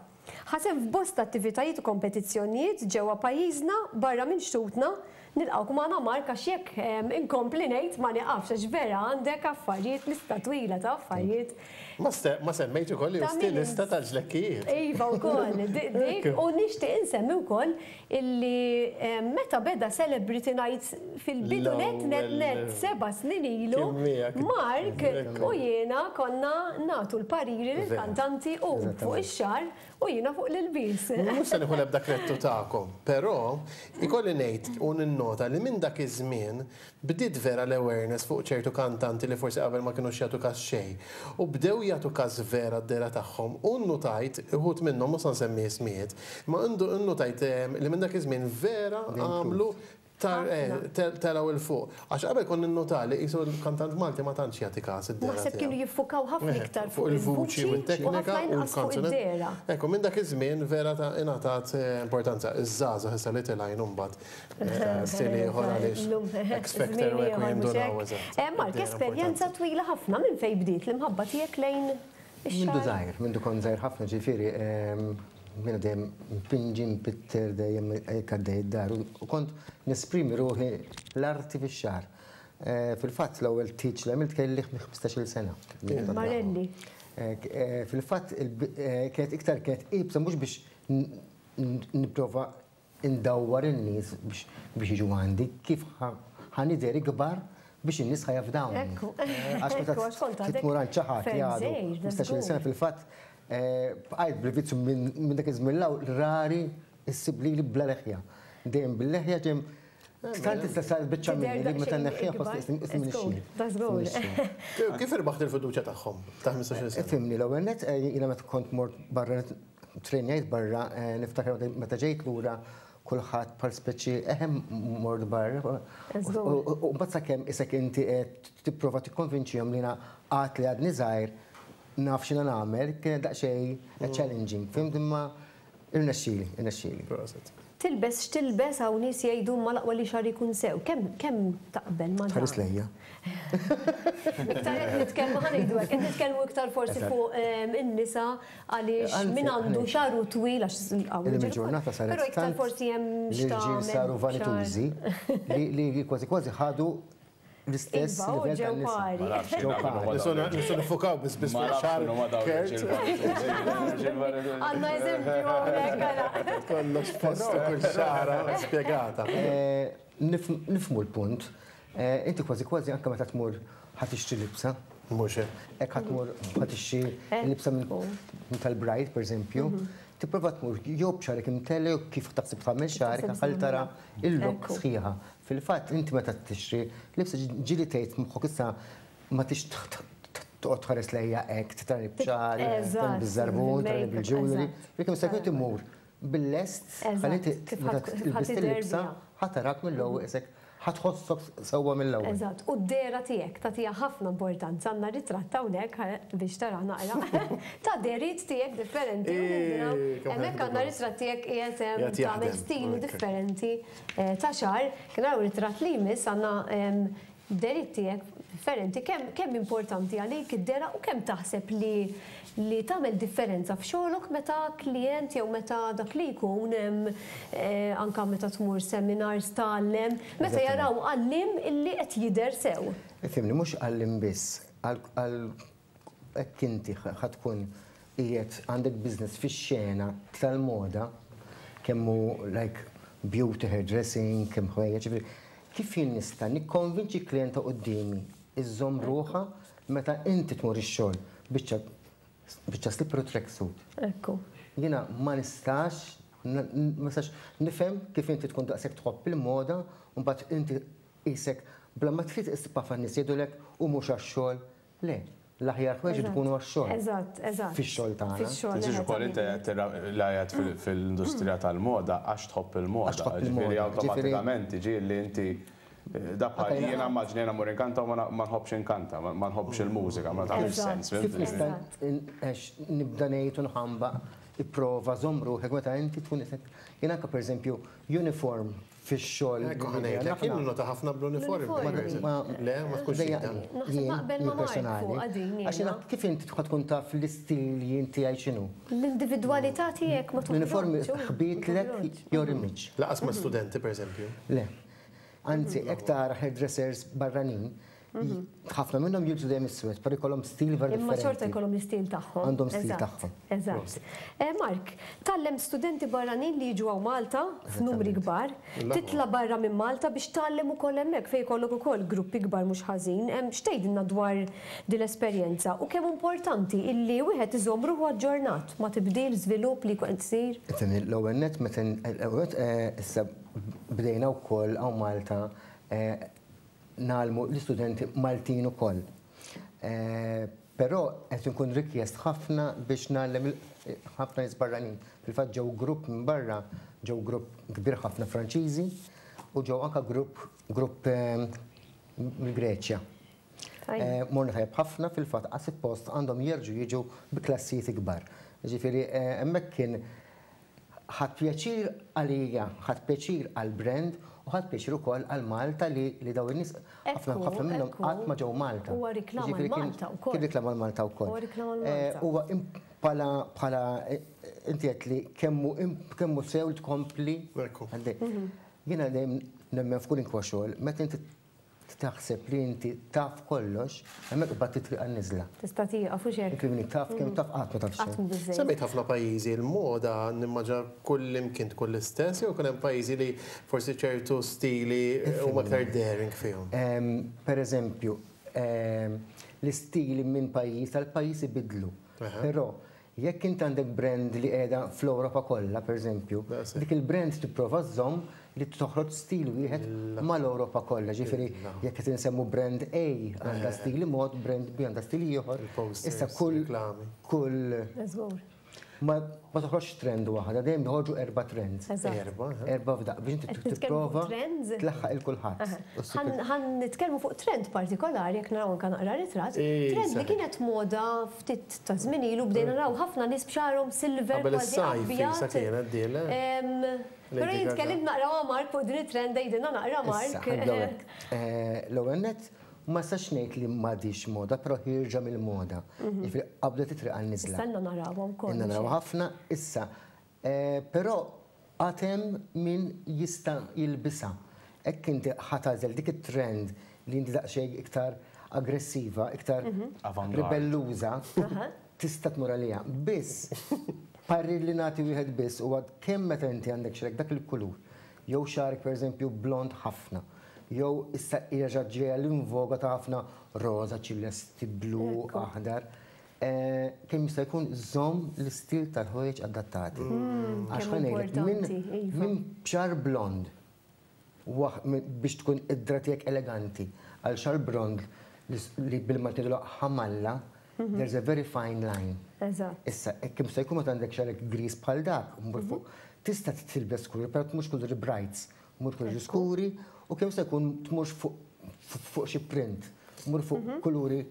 Speaker 3: Ħa sehem f'bosta attivitajiet u kompetizzjonijiet ġewwa pajjiżna barra minn xtutna. Nilqgħuk magħna Mark għax jekk inkompli ngħid ma nieqafx għax vera għandek affarijiet, lista twila ta' affarijiet.
Speaker 2: Ma semmejt ukoll li
Speaker 3: Ta' min
Speaker 2: stilista tal-ġlekkijiet.
Speaker 3: Iva wkoll, dik u nixtieq insemmi wkoll illi meta beda Celebrity Night fil-bidu net net net
Speaker 2: L-ewwel
Speaker 3: 7 snin ilu,
Speaker 2: Kien miegħek.
Speaker 3: Mark
Speaker 2: Ekku.
Speaker 3: u jiena konna nagħtu l-pariri lill-kantanti u fuq ix-xagħar u jiena fuq l-ilbies.
Speaker 2: Mhux se nieħu l-ebda krettu tagħkom, però ikolli ngħid u ninnota li minn dak iż-żmien bdiet vera l-awareness fuq ċertu kantanti li forsi qabel ma kinux jagħtu każ xejn. U bdew jagħtu każ vera d-dehra tagħhom u nnotajt uħud minnhom mhux se nsemmi ismijiet, ma nnotajt li minn dak iż-żmien vera għamlu telgħu 'il fuq. Għax qabel kont ninnota li qisu l-kantant Malti ma tantx jagħti każ id-dehra
Speaker 3: Naħseb kienu
Speaker 2: tiegħu.
Speaker 3: jiffukaw ħafna iktar
Speaker 2: Fuq il-vuċi u
Speaker 3: il-vuċi u
Speaker 2: t-teknika
Speaker 3: ħafna
Speaker 2: u
Speaker 3: inqas fuq
Speaker 2: l-kanzunet.
Speaker 3: id-dehra.
Speaker 2: Ekku, minn dak iż-żmien vera ta' ingħatat importanza. Iż-żgħażagħ issa li tilgħin imbagħad stili ieħor għaliex
Speaker 3: Illum,
Speaker 2: X Factor u hekk u
Speaker 3: żmien ieħor,
Speaker 2: jindunaw
Speaker 3: mhux hekk?
Speaker 2: eżatt.
Speaker 3: Mark,
Speaker 2: Id-dehra
Speaker 3: esperjenza
Speaker 2: importanti.
Speaker 3: twila ħafna minn fejn bdiet l-imħabba tiegħek lejn
Speaker 9: Mindu żgħir, mindu kont żgħir ħafna ġifieri, jiena dejjem npinġi, npitter, dejjem hekk għaddej id-dar u kont nesprimi ruħi l-arti fix-xagħar. Fil-fatt l-ewwel tieġ li għamilt kelli 15-il sena.
Speaker 3: Marelli.
Speaker 9: Fil-fatt kienet iktar kienet iebsa mhux biex nipprova indawwar in-nies biex jiġu għandi, kif ħa nidher ikbar biex in-nies ħa jafdawni. Għax meta tmur għand xi ħadd li għadu 15-il sena fil-fatt bqajt bil-vizzju minn dak iż-żmien 'l hawn rari ssib lili bla leħja. Dejjem bil-leħja dejjem tant issa saret biċċa minni li meta nneħħiha nħossni qisni m'iniex jien.
Speaker 2: Kif irbaħt il-fiduċja tagħhom ta' 15-il sena?
Speaker 9: Ifhimni l-ewwel nett jiena meta kont mort barra Trenjajt barra, niftakar meta ġejt lura kulħadd bħal speċi eħe mort barra. U mbagħad sakemm isek inti qed tipprova tikkonvinċihom li jiena għad li għadni żgħir naf x'inha nagħmel, kienet daqsxejn challenging, fhimt imma irnexxieli, irnexxieli.
Speaker 2: Proset.
Speaker 3: Tilbes x'tilbes hawn nies jgħidu imma l-aqwa li xagħri jkun sew. Kemm kemm taqbel ma' dan?
Speaker 9: Tħares lejja.
Speaker 3: Iktar qed nitkellmu ħa ngħidu hekk, qed nitkellmu iktar forsi fuq in-nisa għaliex min għandu xagħru twil għax hawn
Speaker 9: Illum il-ġurnata saret
Speaker 3: Però iktar forsi hemm
Speaker 9: l-irġiel saru vanitużi li kważi kważi ħadu l-istess livell tan-nisa.
Speaker 3: Ġew
Speaker 9: pari.
Speaker 2: Nistgħu niffukaw biss biss fuq xagħar Kurt.
Speaker 3: Għandna eżempju hawnhekk ara.
Speaker 2: Kollox f'postu kull xagħra spjegata.
Speaker 9: Nifhmu l-punt. Inti kważi kważi anke meta tmur ħa tixtri libsa.
Speaker 2: Mhux hekk.
Speaker 9: Hekk ħa tmur ħa tixtri libsa minn tal-bride, pereżempju, tipprova tmur jew b'xagħrek imtella' jew kif taħseb tagħmel xagħrek ħalli tara l-look sħiħa. Fil-fatt inti meta tixtri libsa ġieli tgħid f'moħħok issa ma tix toqgħod tħares lejja hekk, tarani b'xagħri, tarani biż-żarbun, tarani bil-jewellery. Jekk mista' jkun imur bil-lest ħalli inti meta tilbis il-libsa ħa tarak mill-ewwel isek ħa tħossok sewwa mill-ewwel.
Speaker 3: Eżatt, u d-dehra tiegħek tagħtiha ħafna importanza, għandna ritratt hawnhekk biex tara naqra ta' dehriet tiegħek differenti u nindunaw hemmhekk għandna ritratt tiegħek qiegħed hemm tagħmel stilu differenti ta' xagħar. Kien hawn ritratt li jmiss għandna dehriet tiegħek differenti. Kemm kemm importanti għalik id-dehra u kemm taħseb li li tagħmel differenza f'xogħlok meta klijent jew meta dak li jkun anke meta tmur seminars tgħallem, meta jaraw għalliem illi qed jidher sew.
Speaker 9: Ifhimni, mhux għalliem biss, għal hekk inti ħa tkun qiegħed għandek business fix-xena tal-moda, kemm hu like beauty, hairdressing, kemm ħwejjeġ, ġifieri kif jien nista' nikkonvinċi klijenta quddiemi żżomm ruħha meta inti tmur ix-xogħol biċċa biċċa slipper u tracksuit.
Speaker 3: Ekku.
Speaker 9: Jiena ma nistax ma nistax nifhem kif inti tkun daqshekk tħobb il-moda u mbagħad inti qisek bla ma trid issib ħafna nies jgħidulek u mhux għax-xogħol. Le, l-aħjar ħwejjeġ ikunu għax-xogħol.
Speaker 3: Eżatt, eżatt.
Speaker 9: Fix-xogħol tagħna.
Speaker 3: Fix-xogħol.
Speaker 4: Tinsiex ukoll inti qed qiegħed fil-industrija tal-moda għax tħobb il-moda.
Speaker 9: Għax tħobb il-moda.
Speaker 4: Ġifieri awtomatikament tiġi li inti da bħal jiena immaġni jiena mmur inkanta u ma nħobbx inkanta, ma nħobbx il-mużika, ma tagħmilx sens.
Speaker 9: Kif nista' nibda ngħid u nħambaq ipprova żomm ruħek meta inti tkun qed Jien anke pereżempju uniform fix-xogħol.
Speaker 2: Ekku ħa ngħidlek, jien ninnota ħafna bl-uniformi. Le, ma tkunx
Speaker 3: Naħseb naqbel ma' Mark fuqha din jiena.
Speaker 9: Għax jiena kif inti tkun tkun taf l-istil jien tiegħi x'inhu?
Speaker 3: L-individwalità tiegħek ma toħroġx.
Speaker 9: L-uniformi ħbitlek your image.
Speaker 2: Lanqas ma' studenti, pereżempju.
Speaker 9: Le. Anzi, hekk tara hairdressers barranin, ħafna minnhom jilbsu dejjem iswed, però jkollhom stil vera
Speaker 3: Imma
Speaker 9: differenti.
Speaker 3: xorta jkollhom l-istil tagħhom.
Speaker 9: Għandhom stil
Speaker 3: Eżatt,
Speaker 9: tagħhom.
Speaker 3: Eżatt. Mark, tgħallem studenti barranin li jiġu hawn Malta f'numri kbar, titla' barra minn Malta biex tgħallem ukoll hemmhekk fejn ikollok ukoll gruppi kbar mhux ħażin. X'tgħidilna dwar din l-esperjenza u kemm importanti illi wieħed iżomm ruħu aġġornat ma' tibdil, żvilupp li jkun qed isir?
Speaker 9: Ifhimni, l-ewwel nett meta l-ewwel nett issa bdejna wkoll hawn Malta ngħallmu l-istudenti Maltin ukoll. Però qed inkun rikjest ħafna biex ngħallem ħafna nies barranin. Fil-fatt ġew grupp minn barra, ġew grupp kbir ħafna Franċiżi u ġew anke grupp grupp mill-Greċja. Morna tajjeb ħafna fil-fatt għas post għandhom jerġgħu jiġu bi klassijiet ikbar. Ġifieri hemmhekk kien ħadt pjaċir għalija, ħadt pjaċir għall-brand. U ħadt pjaċir ukoll għal Malta li li dawn in-nies ħafna ħafna minnhom qatt ma ġew Malta.
Speaker 3: Huwa reklam għal Malta wkoll.
Speaker 9: Kien reklam għal Malta wkoll.
Speaker 3: Huwa reklam għal Malta.
Speaker 9: Huwa bħala bħala inti għedt li kemm hu kemm hu sew li tkompli għaddej. Jiena dejjem nemmen f'kwalunkwe xogħol, meta inti taħseb li inti taf kollox, hemmhekk qbadt it-triq għan-niżla.
Speaker 3: Tista' tieqaf hux hekk?
Speaker 9: Inti min taf kemm taf qatt ma taf xejn.
Speaker 3: Qatt mhu biżżejjed.
Speaker 2: Semmejt ħafna pajjiżi, il-moda nimmaġina kullimkien tkun l-istess jew ikun hemm pajjiżi li forsi ċertu stili huma aktar daring fihom?
Speaker 9: Per eżempju, l-istili minn pajjiż għal pajjiż ibiddlu. Però Jekk int għandek brand li qiegħda fl-Ewropa kollha, pereżempju, dik il-brand tipprova żżomm li toħroġ stil wieħed mal-Ewropa kollha. Ġifieri jekk qed insemmu brand A għandha stili mod, brand B għandha stil ieħor. Issa kull kull ma toħroġx trend waħda, dejjem joħorġu erba' trends.
Speaker 2: Erba',
Speaker 9: Erba' f'daqqa biex inti tipprova tlaħħaq il kulħadd.
Speaker 3: Ħa nitkellmu fuq trend partikolari jekk naraw anke naqra ritratt. Trend li kienet moda ftit ta' żmien ilu bdejna naraw ħafna nies b'xagħarhom silver kważi abjad. Però jien tkellimt naqra ma' Mark fuq din it-trend għidilna naqra Mark.
Speaker 9: L-ewwel nett ma nistax ngħid li m'għadhiex moda, però ħierġa mill-moda. Jiġifieri qabdet it-triq għan-niżla.
Speaker 3: Issa ilna narawha wkoll.
Speaker 9: Ilna narawha ħafna issa. Però għad hemm min jista' jilbisha. Hekk inti ħa tagħżel dik it-trend li inti daqsxejn iktar aggressiva, iktar ribelluża, tista' tmur għaliha. Biss, parir li nagħti wieħed biss huwa kemm meta inti għandek xagħrek dak il-kulur, jew xagħrek pereżempju blond ħafna, jew issa reġgħet ġejja l-invoga ta' ħafna roża, ċilesti, blu, aħdar, Kemm jista' jkun żomm l-istil tal-ħwejjeġ adattati. Għax ħa ngħidlek, minn xagħar blond biex tkun id-dra tiegħek eleganti għal xagħar blond li bil-Malti ngħidulha ħamalla, there's a very fine line. Issa, kemm jista' jkun meta għandek xagħrek griż bħal dak, mur fuq, tista' tilbes kulur, però tmurx kuluri brights, mur kuluri skuri u kemm jista' jkun tmurx fuq xi print, mur fuq kuluri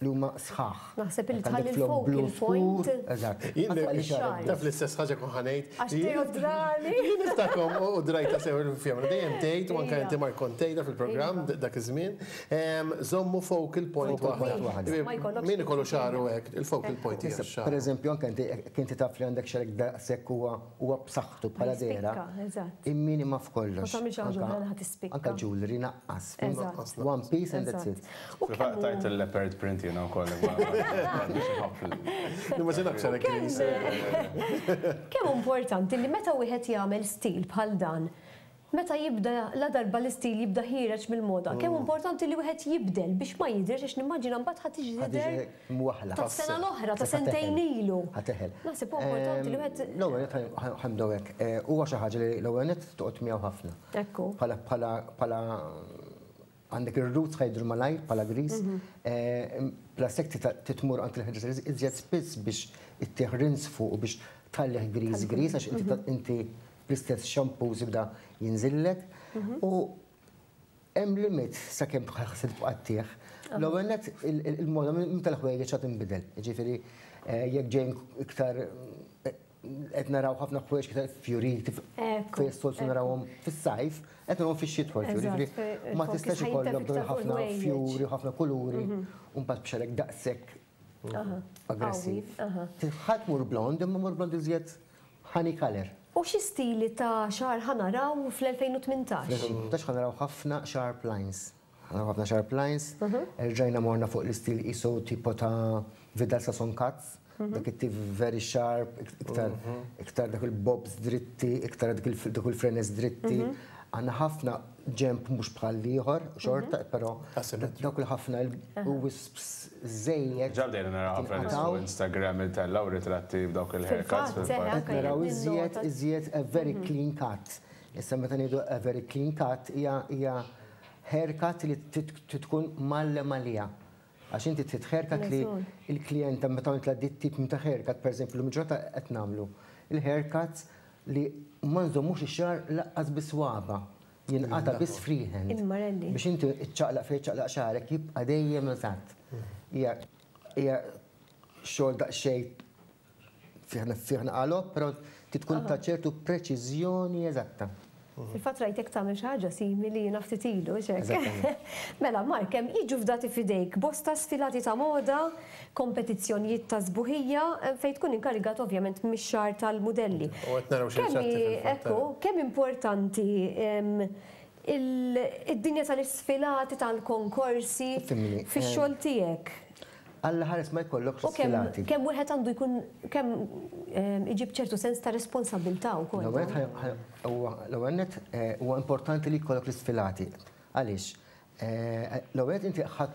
Speaker 9: li huma sħaħ.
Speaker 3: Naħseb li tħalli l-focal point.
Speaker 9: Eżatt.
Speaker 2: Taf l-istess ħaġa kun ħanejt.
Speaker 3: Għax Teo drani.
Speaker 2: Jien niftakom u drajta sew il-fjemra. Dejjem tgħid u anke inti Mark kont tgħidha fil-programm dak iż-żmien. Żommu focal point waħda. Min ikollu xagħru hekk, il-focal point hija x-xagħar.
Speaker 9: Pereżempju anke inti jekk inti taf li għandek xagħrek daqshekk huwa huwa b'saħħtu bħala dehra. Imminima f'kollox.
Speaker 3: Ma tagħmilx ħaġa oħra li ħa tispikka.
Speaker 9: Anke jewelry naqqas. One piece and that's it.
Speaker 4: Fil-fatt tajt il-leopard print jiena wkoll imma m'għandix inħobb.
Speaker 2: Nimmaġinak xagħrek griż.
Speaker 3: Kemm hu importanti li meta wieħed jagħmel stil bħal dan, meta jibda ladarba l-istil jibda ħiereġ mill-moda, kemm hu importanti li wieħed jibdel biex ma jidhirx għax nimmaġina mbagħad ħa tiġi tidher tas-sena l-oħra, ta' sentejn ilu.
Speaker 9: Ħa teħel.
Speaker 3: Naħseb hu importanti li wieħed.
Speaker 9: L-ewwel nett ħa nibdew hekk. Huwa xi ħaġa li l-ewwel nett toqgħod miegħu ħafna.
Speaker 3: Ekku.
Speaker 9: Bħala bħala bħala Għandek ir-roots ħa jidhru malajr bħala griż. Plus hekk trid tmur għand il-hairdresser iżjed spiss biex ittih rinse fuqu biex tħallih griż griż għax inti bl-istess shampoos jibda jinżillek. U hemm limit sakemm se tibqa' ttih. L-ewwel nett il-moda minn tal-ħwejjeġ ħa tinbidel. Jiġifieri jekk ġejjin iktar Qed naraw ħafna ħwejjeġ iktar fjuriti fejn s-soltu narawhom fis-sajf, qed narawhom fix-xitwa l-fjuri. Ma tistax ikollok dawn ħafna fjuri u ħafna kuluri u mbagħad b'xagħrek daqshekk aggressiv. Ħa tmur blond, imma mur blond iżjed honey colour.
Speaker 3: U xi stili ta' xagħar ħa naraw fl-2018?
Speaker 9: Fl-2018 ħa naraw ħafna sharp lines. Naraw ħafna sharp lines, erġajna morna fuq l-istil qisu tipo ta' Vidal Sassoon cuts, dak it-tip very sharp, iktar iktar dak il-bobs dritti, iktar dak il-frenes dritti. Għandna ħafna ġenb mhux bħal ieħor, xorta, però dawk il-ħafna wisps żejjed.
Speaker 4: Ġa bdejna naraw ħafna nies fuq Instagram itellgħu ritratti b'dawk il-haircuts fil-fatt.
Speaker 9: Qed naraw iżjed iżjed a very clean cut. Issa meta ngħidu a very clean cut hija Haircut li trid tkun mgħallem għaliha. Għax inti trid haircut li l-klijenta meta għamiltla dit tip ta' haircut, pereżempju llum il-ġurnata qed nagħmlu il-haircuts li ma nżommux ix-xagħar lanqas bi swaba', jinqata' biss freehand. Biex inti ċċaqlaq fejn iċċaqlaq xagħrek jibqa' dejjem eżatt. Hija hija xogħol daqsxejn fih fih naqalgħob, però trid tkun ta' ċertu preċiżjoni eżatta.
Speaker 3: Fil-fatt rajtek tagħmel xi ħaġa simili jiena ftit ilu, hux hekk? Mela, Mark, hemm jiġu fdati f'idejk bosta sfilati ta' moda, kompetizzjonijiet ta' sbuħija, fejn tkun inkarigat ovvjament mix-xagħar tal-mudelli.
Speaker 2: U qed naraw xi ritratti fil-fatt.
Speaker 3: Ekku, kemm importanti id-dinja tal-isfilati, tal-konkorsi fix-xogħol tiegħek?
Speaker 9: Alla ħares ma jkollokx sfilati.
Speaker 3: U kemm wieħed għandu jkun kemm iġib ċertu sens ta' responsabbiltà wkoll.
Speaker 9: L-ewwel nett huwa importanti li jkollok l-isfilati. Għaliex? L-ewwel nett inti ħadd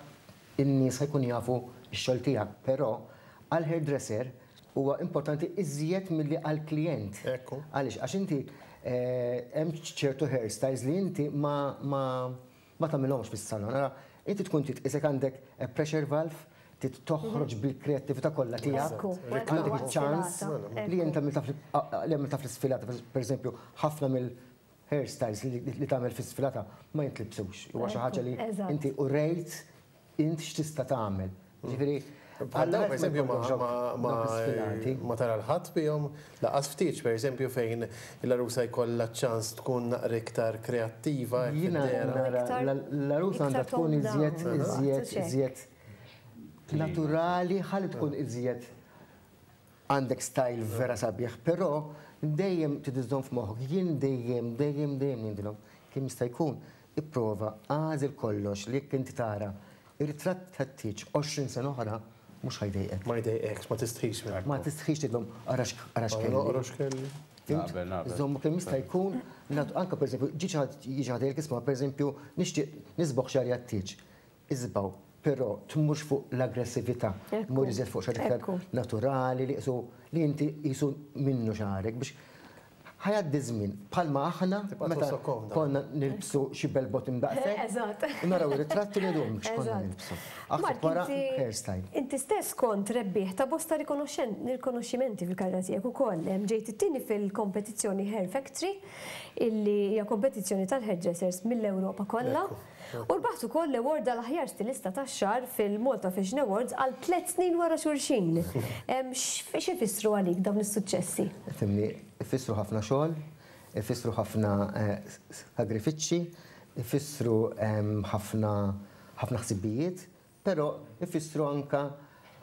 Speaker 9: in-nies ħa jkunu jafu x-xogħol tiegħek, però għall-hairdresser huwa importanti iżjed milli għall-klijent. Għaliex? Għax inti hemm ċertu hairstyles li inti ma Ma tagħmilhomx fis-salon. Ara, inti tkun trid qisek għandek a pressure valve, trid toħroġ bil-kreattività kollha tiegħek. Għandek iċ-ċans li inti li għamiltha fl-isfilata, pereżempju, ħafna mill-hairstyles li tagħmel fl-isfilata ma jintlibsux. Huwa xi ħaġa li inti urejt Int x'tista' tagħmel? Jiġifieri,
Speaker 2: Bħal dawn pereżempju ma tara l-ħadd bihom lanqas ftit, pereżempju fejn l-għarusa jkollha ċ-ċans tkun naqra iktar kreattiva hekk
Speaker 9: Jiena
Speaker 2: fid-dehra.
Speaker 9: nara l-għarusa għandha tkun iżjed iżjed iżjed naturali ħalli tkun iżjed għandek style vera sabiħ, però dejjem trid iżżomm f'moħħok, jien dejjem dejjem dejjem ngħidilhom kemm jista' jkun Ipprova agħżel kollox li jekk inti tara r-ritratt tat-tieġ 20 sena oħra mhux ħa jdejqek.
Speaker 2: Ma jdejqekx, ma tistħix minnu.
Speaker 9: Ma tistħix tgħidlhom ara x'kelli.
Speaker 2: Ara x'kelli.
Speaker 9: Fhimt? Żommu kemm jista' jkun nagħtu anke pereżempju ġie xi ħadd jiġi xi ħadd jgħidlek isma' pereżempju nixtieq nisbogħ xagħri għat-tieġ. Isbgħu, però tmurx fuq l-aggressività, mur iżjed fuq xi ħaġa iktar naturali li qisu li inti qisu minnu xagħrek biex Ħa jgħaddi ż-żmien, bħalma aħna meta konna nilbsu xi bell bottom daqshekk, u naraw ir-ritratti u ngħidu x'konna nilbsu. Aħseb wara hairstyle.
Speaker 3: Inti stess kont rebbieħ ta' bosta rikonoxximenti fil-karriera tiegħek ukoll. Ġejt it-tieni fil-kompetizzjoni Hair Factory, illi hija kompetizzjoni tal-hairdressers mill-Ewropa kollha. U rbaħt ukoll l-award għal aħjar stilista tax-xagħar fil-Malta Fashion Awards għal tlett snin wara xulxin. X'ifissru għalik dawn is-suċċessi?
Speaker 9: Ifhimni, ifissru ħafna xogħol, ifissru ħafna sagrifiċċji, ifissru ħafna ħafna ħsibijiet, però ifissru anke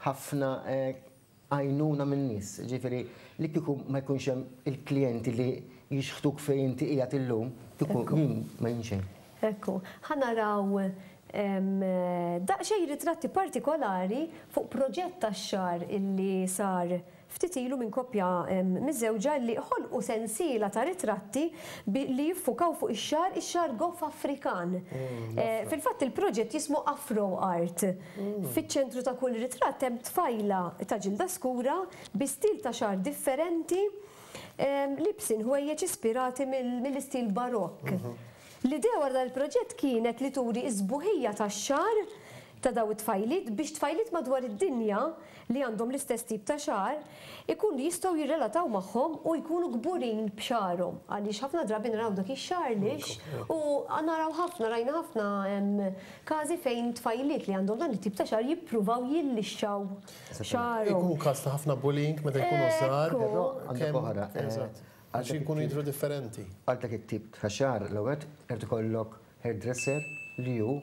Speaker 9: ħafna għajnuna min-nies. Jiġifieri li kieku ma jkunx hemm il-klijenti li jixħtuk fejn inti qiegħed illum, kieku jien ma jien xejn.
Speaker 3: Ekku. Ħa naraw daqsxejn ritratti partikolari fuq proġett tax-xagħar illi sar ftit ilu minn koppja miżżewġa li ħolqu sensiela ta' ritratti li jiffukaw fuq ix-xagħar, ix-xagħar goff Afrikan. Fil-fatt il-proġett jismu Afro Art. Fiċ-ċentru ta' kull ritratt hemm tfajla ta' ġilda skura bi stil ta' xagħar differenti libsin ħwejjeġ ispirati mill-istil Barokk. L-idea wara dan il-proġett kienet li turi s-sbuħija tax-xagħar ta' dawn it-tfajliet biex tfajliet madwar id-dinja li għandhom l-istess tip ta' xagħar ikunu jistgħu jirrelataw magħhom u jkunu kburin b'xagħarhom għaliex ħafna drabi naraw dak ix-xagħar lixx u naraw ħafna rajna ħafna każi fejn tfajliet li għandhom dan it-tip ta' xagħar jippruvaw jillixxaw xagħarhom.
Speaker 2: Ikun każ ta' ħafna bullying meta jkunu żgħar.
Speaker 9: Però għandek oħra.
Speaker 2: Eżatt. Għax inkunu jidhru differenti.
Speaker 9: Għal dak it-tip ta' xagħar l-ewwel nett irid ikollok hairdresser li hu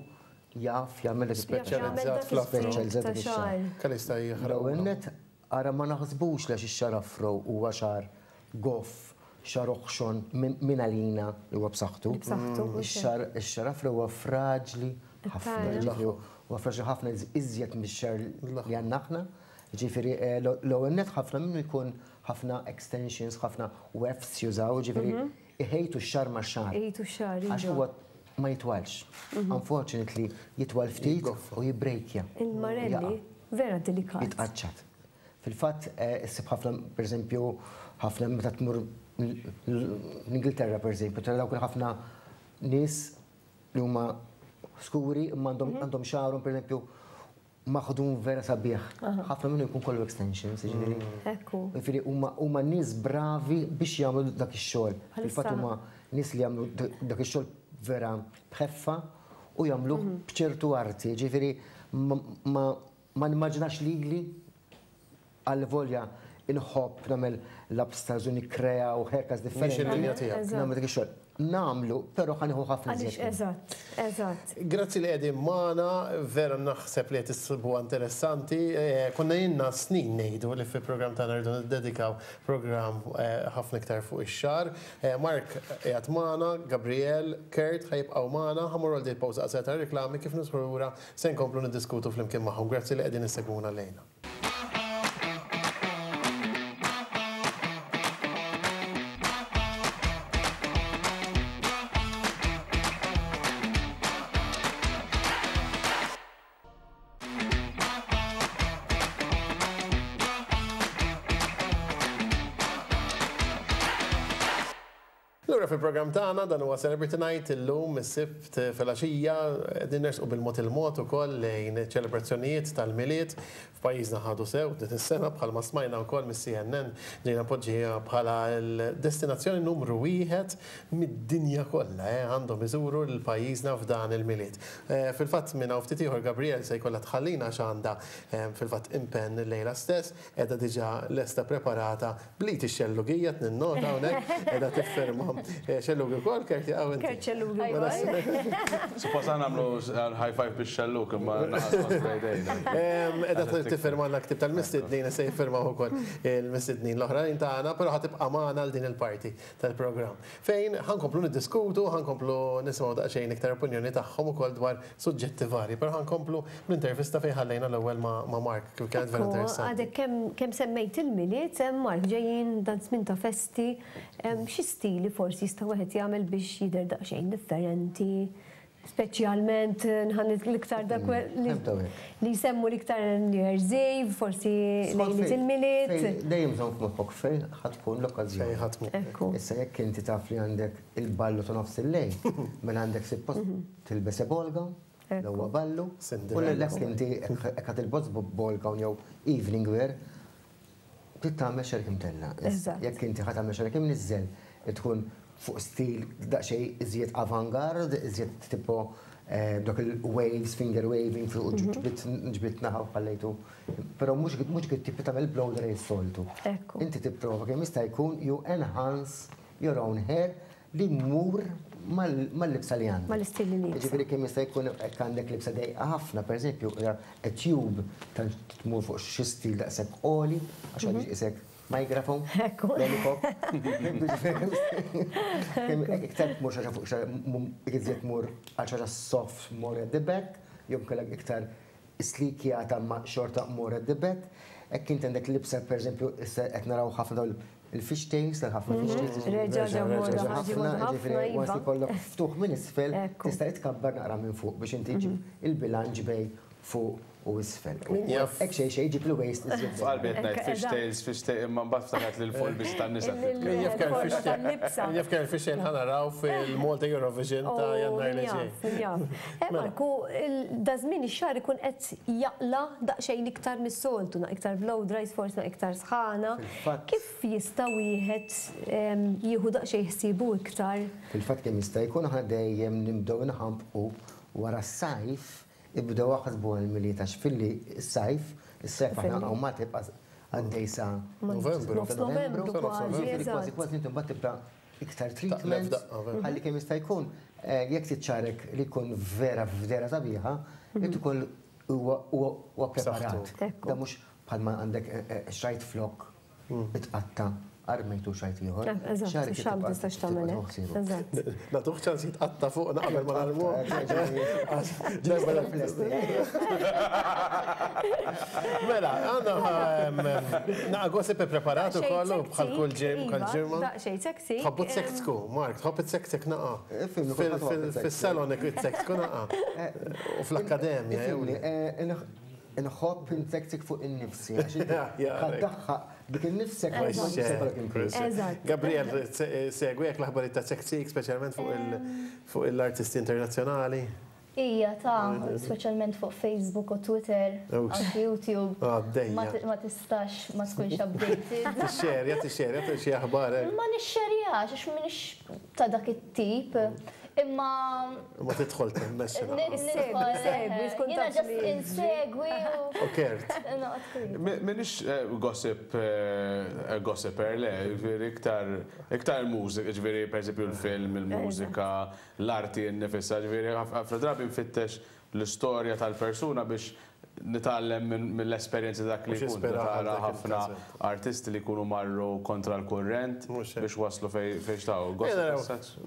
Speaker 9: jaf jagħmel dak
Speaker 2: Speċjalizzat fl-afro.
Speaker 9: Speċjalizzat dak ix-xagħar.
Speaker 2: Kemm jista' jaħraq.
Speaker 9: L-ewwel nett ara ma naħsbux li għax ix-xagħar afro huwa xagħar goff, xagħar oħxon minn għalina li huwa b'saħħtu. Ix-xagħar afro huwa fraġli ħafna. Jiġifieri huwa fraġli ħafna iżjed mix-xagħar li għandna aħna. Jiġifieri l-ewwel nett ħafna minnu jkun ħafna extensions, ħafna wefts jużaw, jiġifieri iħejtu x-xagħar max-xagħar.
Speaker 3: Iħejtu x-xagħar, iva.
Speaker 9: Għax huwa ma jitwalx. Unfortunately, jitwal ftit u jibbrejkja.
Speaker 3: Il-marelli vera delikat.
Speaker 9: Jitqaċċat. Fil-fatt, issib ħafna, pereżempju, ħafna meta tmur l-Ingilterra, pereżempju, tara dawk il-ħafna nies li huma skuri imma għandhom xagħarhom, pereżempju, maħdum vera sabiħ. Ħafna minnu jkun kollu extensions, jiġifieri.
Speaker 3: Ekku.
Speaker 9: Jiġifieri huma huma nies bravi biex jagħmlu dak ix-xogħol. Fil-fatt huma nies li jagħmlu dak ix-xogħol vera b'ħeffa u jagħmluh b'ċertu arti, jiġifieri ma ma nimmaġinax lili għal volja inħobb nagħmel l-upstyles u nikkrea u haircuts differenti.
Speaker 2: Mhix il-linja tiegħek.
Speaker 9: Nagħmel dik ix-xogħol. Nagħmlu, però ħa nieħu ħafna iżjed.
Speaker 3: Għaliex eżatt, eżatt.
Speaker 2: Grazzi li qegħdin magħna, vera naħseb li qed issibuha interessanti. Konna ilna snin ngħidu li fil-programm tagħna rridu niddedikaw programm ħafna iktar fuq ix-xagħar. Mark qiegħed magħna, Gabriel, Kurt ħa jibqgħu magħna, ħa mmorru għal din il-pawża qasira ta' riklami kif nidħlu lura se nkomplu niddiskutu flimkien magħhom. Grazzi li qegħdin issegwuna llejla. Lura fil-programm tagħna dan huwa Celebrity Night illum is-Sibt filgħaxija qegħdin nersqu bil-mod il-mod ukoll lejn iċ-ċelebrazzjonijiet tal-Milied. F'pajjiżna ħadu sew din is-sena bħalma smajna wkoll mis-CNN ġejna mpoġġija bħala l-destinazzjoni numru wieħed mid-dinja kollha eh għandhom iżuru lil pajjiżna f'dan il-Milied. Fil-fatt minn hawn ftit ieħor Gabrielle se jkollha tħallina għax għandha fil-fatt impenn illejla stess. Qiegħda diġà lesta preparata bl-id ix-xellugija qed ninnota hawnhekk qiegħda tifferma xellugi wkoll Kurt jaqgħu inti.
Speaker 3: Kurt xellugi wkoll.
Speaker 4: Suppost aħna nagħmlu high five bix-xellug imma naqas jdejna.
Speaker 2: Qiegħda tiffermalna ktieb tal-mistednin se jiffirmaw ukoll il-mistednin l-oħrajn tagħna, però ħa tibqa' magħna għal din il-parti tal-programm. Fejn ħa nkomplu niddiskutu, ħa nkomplu nisimgħu daqsxejn iktar opinjoni tagħhom ukoll dwar suġġetti varji. Però ħa nkomplu bl-intervista fejn ħallejna l-ewwel ma' Mark kif kienet vera interessanti.
Speaker 3: Għadek kemm semmejt il-Milied, Mark, ġejjin dan żmien ta' festi, xi stili forsi jista' wieħed jagħmel biex jidher daqsxejn differenti? Speċjalment l-iktar dak li jsemmu l-iktar New Year's Eve, forsi lejliet il-Milied.
Speaker 9: Dejjem żomm f'moħħok fejn ħa tkun l-okkażjoni.
Speaker 2: Fejn ħa tmur.
Speaker 3: Ekku.
Speaker 9: Issa jekk inti taf li għandek il-ballu ta' nofs il-lejl, mela għandek suppost tilbes ball gown, l-ewwel ballu, u jekk inti hekk ħa tilbos ball gown jew evening wear, Trid tagħmel xerk imtella'. Jekk inti ħa tagħmel xerk imniżżel, tkun fuq stil daqsxejn iżjed avant-garde, iżjed tipo dawk il-waves, finger waving fuq ġbidt naħa u ħallejtu. Però mhux mhux dik it-tip li tagħmel blow dry s-soltu. Inti tipprova kemm jista' jkun you enhance your own hair li jmur mal-libsa li għandek.
Speaker 3: Mal-istil li liebsa.
Speaker 9: Jiġifieri kemm jista' jkun hekk għandek libsa dejqa ħafna, pereżempju, a tube tant tmur fuq xi stil daqshekk għoli, għax għandix isek microphone, lollipop. Iktar tmur xi ħaġa fuq xi iżjed tmur għal xi ħaġa soft more at the back, jew inkella iktar slikjata imma xorta more at the back. Hekk inti għandek libsa pereżempju issa qed naraw ħafna dawn il-fish tails, ħafna fish tails.
Speaker 3: Reġa' ġew moda ħafna,
Speaker 9: ġifieri once li jkollok ftuħ minn isfel, tista' tkabbar naqra minn fuq biex inti ġġib il-bilanċ bejn fuq u isfel. Hekk xejn xejn iġib il-waist iżjed.
Speaker 4: F'qalbi qed ngħid fish tails, fish tails, imma mbagħad ftakart li l-fuq il-biża tan-nisa.
Speaker 2: Min jaf kemm fish tail, min jaf kemm fish tail ħa naraw fil-Malta Eurovision ta' Jannar li ġej.
Speaker 3: Min jaf, min jaf. Marku, daż-żmien ix-xagħar ikun qed jaqla' daqsxejn iktar mis-soltu, iktar blow dries, forsi iktar sħana. Kif jista' wieħed jieħu daqsxejn ħsiebu iktar?
Speaker 9: Fil-fatt kemm jista' jkun aħna dejjem nibdew inħambqu wara s-sajf, ibdew aħsbu għall-Milied għax filli s-sajf, is-sajf aħna hawn Malta jibqa' għaddej sa
Speaker 2: Novembru.
Speaker 3: Nofs Novembru kważi.
Speaker 9: Kważi kważi inti mbagħad tibda iktar treatments ħalli kemm jista' jkun jekk trid xagħrek li jkun vera f'dehra sabiħa, irid ikun huwa preparat. Da mhux bħalma għandek xrajt flok itqatta' armejtu xrajt ieħor.
Speaker 3: Eżatt, xagħar ma tistax tagħmel hekk. Eżatt.
Speaker 2: Nagħtuh ċans jitqatta' fuqna qabel ma narmuh. Mela, għandna naqa' gossip ippreparat ukoll u bħal kull ġimgħa.
Speaker 3: Daqsxejn sexy.
Speaker 2: Tħobbu tsektku, Mark, tħobb itsektek naqa'. Fis-salon itsektku naqa'. U fl-akkademja.
Speaker 9: Inħobb intektik fuq innifsi, għax inti ħa ddaħħaq dik innifsek ma jkunx se jkollok inkwiet.
Speaker 2: Gabriel, segwi hekk l-aħbarijiet ta' Tseksik, speċjalment fuq l-artisti internazzjonali?
Speaker 5: Ija, ta' speċjalment fuq Facebook u Twitter, anki YouTube. Ma tistax ma tkunx updated.
Speaker 2: Tixxerja, tixxerja xi aħbar hekk.
Speaker 5: Ma nixxerjax għax m'iniex ta' dak it-tip. Imma.
Speaker 2: Ma tidħol temmes.
Speaker 5: Nidħol. Jiena just insegwi
Speaker 2: u. Kert.
Speaker 4: Minix gossip gossiper le, ġifieri iktar iktar mużika, ġifieri pereżempju l-film, il-mużika, l-arti nnifisha, ġifieri ħafna drabi nfittex l-istorja tal-persuna biex nitgħallem mill-esperjenzi ta' dak li jkun. Tara ħafna artisti li jkunu marru kontra l-kurrent biex waslu fejn xtaqu.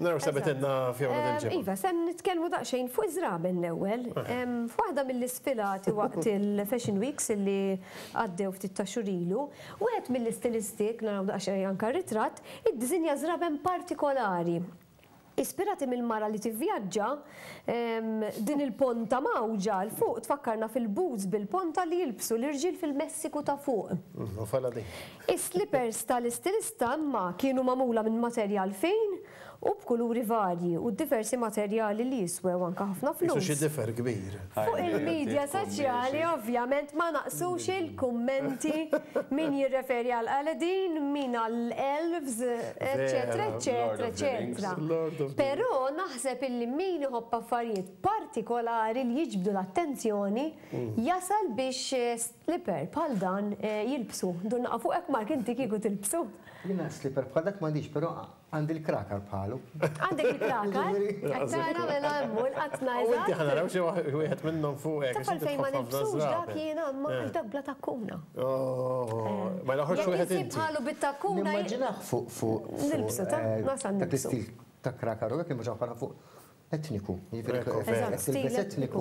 Speaker 2: Naraw x'sabitilna Fiona dil-ġimgħa.
Speaker 3: Iva, se nitkellmu daqsxejn fuq iż-żraben l-ewwel. F'waħda mill-isfilati waqt il-Fashion Weeks li għaddew ftit ta' xhur ilu, wieħed mill-istilisti, naraw daqsxejn anke r-ritratt, iddisinja żraben partikolari. Ispirati mill-mara li tivvjaġġa, din il-ponta mgħawġa 'l fuq tfakkarna fil-boots bil-ponta li jilbsu l-irġiel fil-Messiku ta' fuq. Is-slippers tal-istilista imma kienu magħmula minn materjal fin u b'kuluri varji u diversi materjali li jiswew anke ħafna flus.
Speaker 2: Qisu xi difer kbir.
Speaker 3: Fuq il-midja soċjali ovvjament ma naqsux il-kummenti, min jirreferi għal Aladdin, min għal elves, eċċetera eċċetera eċċetera. Però naħseb illi min iħobb affarijiet partikolari li jiġbdu l-attenzjoni jasal biex slipper bħal dan jilbsu. Ndur naqa' fuqek Mark inti kieku tilbsu?
Speaker 9: Jiena slipper bħal dak m'għandix però Għandi l-krakar bħalu.
Speaker 3: Għandek il-krakar? Qed tara mela hemm hu l-qatna
Speaker 2: eżatt. U inti ħa naraw xi wieħed minnhom fuqek.
Speaker 3: Taf għalfejn ma nilbsux dak jiena imma għax dak bla takkuna.
Speaker 2: Oh, ma joħroġx wieħed inti.
Speaker 3: Bħalu bit-takkuna.
Speaker 9: Nimmaġinah fuq fuq.
Speaker 3: Nilbsu ta' nasal
Speaker 9: nilbsu. Dak l-istil ta' krakar u hekk imma bħala fuq Etniku, jiġifieri tilbes etniku.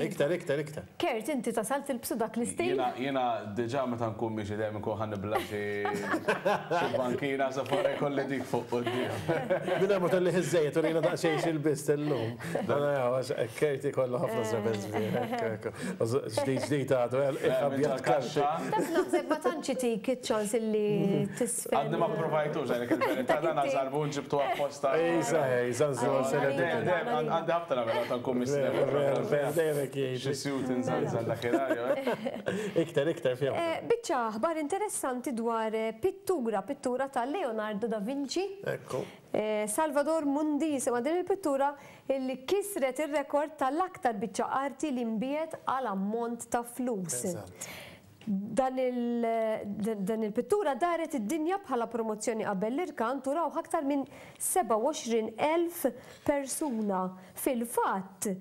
Speaker 2: Iktar, iktar, iktar.
Speaker 3: Kurt, inti tasal tilbsu dak l-istil?
Speaker 4: Jiena diġà meta nkun miexi dejjem inkun ħa nibla' xi bankina sa fuq ikolli dik fuq quddiem.
Speaker 2: Mingħajr ma tellih iż-żejjed urina daqsxejn x'ilbist illum. Kurt ikollu ħafna żraben sbieħ. Ġdid ġdid għadu, abjad kaxxa.
Speaker 3: Taf naħseb ma tantx itik iċ-ċans illi tisfen.
Speaker 4: Għadni ma pprovajtux għalhekk il-verità dan għażarbun ġibtu apposta.
Speaker 2: Ejsa, ejsa,
Speaker 4: Għandi ħabta nagħmel meta nkun mistenni. Xi sjut inżanżan dakinhar.
Speaker 2: Iktar, iktar fija.
Speaker 3: Biċċa aħbar interessanti dwar pittura, pittura ta' Leonardo da Vinci.
Speaker 2: Ekku.
Speaker 3: Salvador Mundi jisimha din il-pittura illi kisret ir-rekord tal-aktar biċċa arti li nbiegħet għal ammont ta' flus. Dan il-pittura daret id-dinja bħala promozzjoni qabel l-irkant u rawh aktar minn 27,000 persuna. Fil-fatt,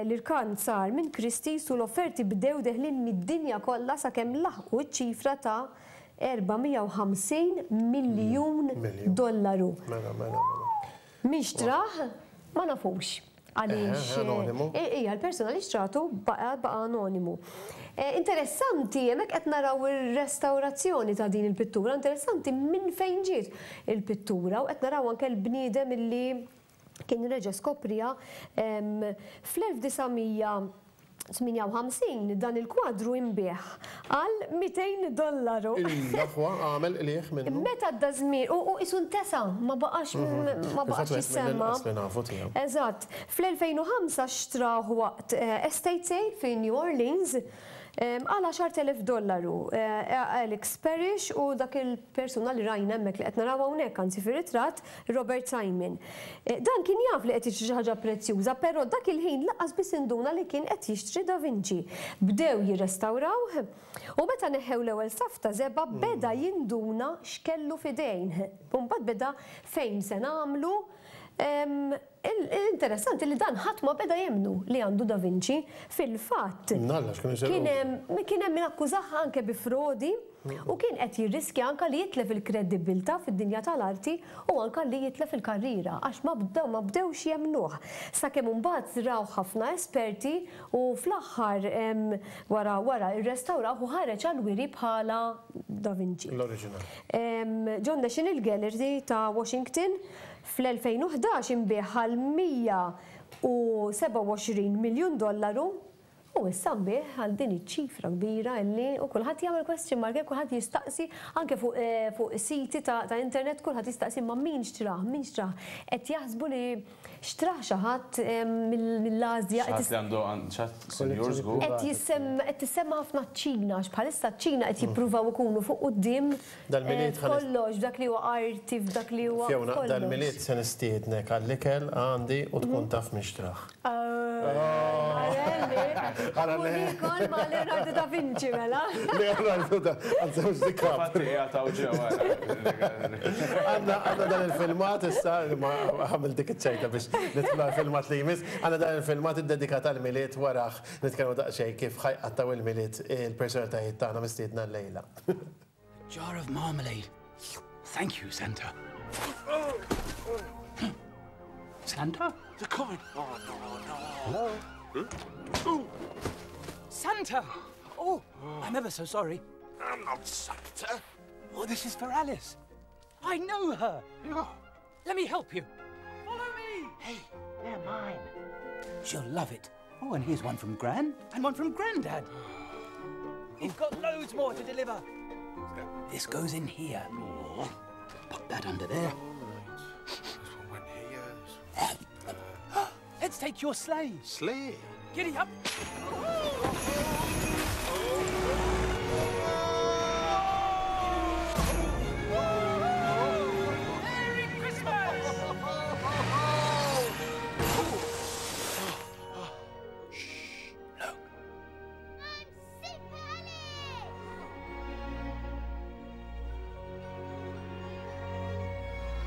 Speaker 3: l-irkant sar minn Christie's u l-offerti bdew deħlin mid-dinja kollha sakemm laħqu ċ-ċifra ta' 450 miljun dollaru. Min xtrah ma nafux. Għaliex hija l-persuna li xtratu baqa' anonimu. Interessanti, hemmhekk qed naraw ir-restawrazzjoni ta' din il-pittura, interessanti minn fejn ġiet il-pittura u qed naraw anke l-bniedem illi kien reġa' skopriha fl-1900 58 dan il-kwadru inbiegħ għal 200 dollaru.
Speaker 2: L-aħwa għamel qligħ minnu.
Speaker 3: Meta għadda żmien u qisu ntesa, ma baqax ma baqax jissemma. Eżatt. Fl-2005 xtrah waqt estate sale fi New Orleans għal 10,000 dollaru. Alex Parrish u dak il-persuna li rajna hemmhekk li qed naraw hawnhekk anzi fir-ritratt Robert Simon. Dan kien jaf li qed jixtri xi ħaġa prezzjuża, però dak il-ħin lanqas biss induna li kien qed jixtri Da Vinci. Bdew jirrestawrawh u meta neħħew l-ewwel saff ta' żebgħa beda jinduna x'kellu f'idejn. U mbagħad beda fejn se nagħmlu. Interessanti li dan ħadd ma beda jemmnu li għandu Da Vinci. Fil-fatt, kien hemm min akkużah anke bi frodi u kien qed jirriskja anke li jitlef il-kredibbiltà fid-dinja tal-arti u anke li jitlef il-karriera għax ma bdew ma bdewx jemmnuh. Sakemm imbagħad rawh ħafna esperti u fl-aħħar wara wara rrestawrawh u ħareġ għall-wiri bħala Da Vinci.
Speaker 2: L-oriġinal.
Speaker 3: Ġo National Gallery ta' Washington fl-2011 inbiegħ għal 127 miljun dollaru. U issa nbiegħ għal din iċ-ċifra kbira illi u kulħadd jagħmel question mark, kulħadd jistaqsi anke fuq fuq siti ta' ta' internet kulħadd jistaqsi imma min xtrah, min xtrah. Qed jaħsbu li xtrah xi ħadd mill-Asja.
Speaker 4: Xi ħadd li għandu xi ħadd sinjur żgur.
Speaker 3: Qed jissemma qed tissemma ħafna ċ-Ċina għax bħalissa ċ-Ċina qed jippruvaw ikunu fuq quddiem f'kollox, f'dak li huwa arti, f'dak li huwa
Speaker 2: Fiona, dal-Milied se nistiednek għall-ikel għandi u tkun taf min xtrah.
Speaker 3: Ara le. Nikol ma' Leonardo da Vinci mela.
Speaker 2: Leonardo da, anzi mhux DiCaprio.
Speaker 4: Infatti qiegħed hawn ġewwa.
Speaker 2: Għandna għandna dan il-filmat issa, ma għamilt dik iċ-ċajta biex nidħlu għall-filmat li jmiss. Għandna dan il-filmat iddedikat għall-Milied warah nitkellmu daqsxejn kif ħa jqattgħu il-Milied il-personalitajiet tagħna mistiedna llejla.
Speaker 10: Jar of marmalade. Thank you, Santa. Santa?
Speaker 6: The coin. Oh, no, no.
Speaker 10: Hello? Hmm? Santa! Oh, I'm ever so sorry.
Speaker 6: I'm not Santa.
Speaker 10: Oh, this is for Alice. I know her.
Speaker 6: Yeah.
Speaker 10: Let me help you. Follow me. Hey, they're mine. She'll love it. Oh, and here's one from Gran and one from Grandad. You've got loads more to deliver. This goes in here. Put that under there. Let's take your sleigh.
Speaker 6: Sleigh?
Speaker 10: Giddy up. Merry Christmas! Shh, look.
Speaker 8: I'm Super Alice!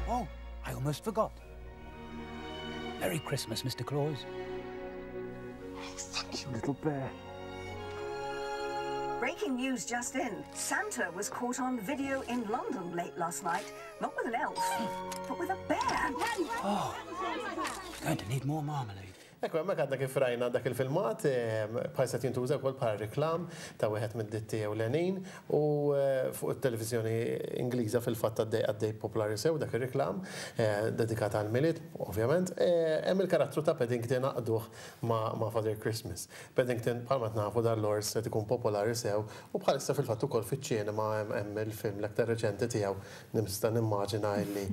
Speaker 10: Oh, I almost forgot. Merry Christmas, Mr. Claus.
Speaker 6: Oh, thank you, little bear.
Speaker 11: Breaking news just in. Santa was caught on video in London late last night, not with an elf, but with a bear.
Speaker 10: Oh, going to need more marmalade.
Speaker 2: Ekku, hemmhekk għadna kif rajna dak il-filmat, bħalissa qed jintuża wkoll bħala reklam ta' wieħed mid-ditti ewlenin u fuq it-televiżjoni Ingliża fil-fatt għaddej għaddej popolari sew dak ir-reklam dedikat għall-Milied, ovvjament. Hemm il-karattru ta' Paddington għaqqduh ma' Father Christmas. Paddington bħalma qed nafu dal-ors qed ikun popolari sew u bħalissa fil-fatt ukoll fiċ-ċinema hemm il-film l-aktar reċenti tiegħu Nista' nimmaġina illi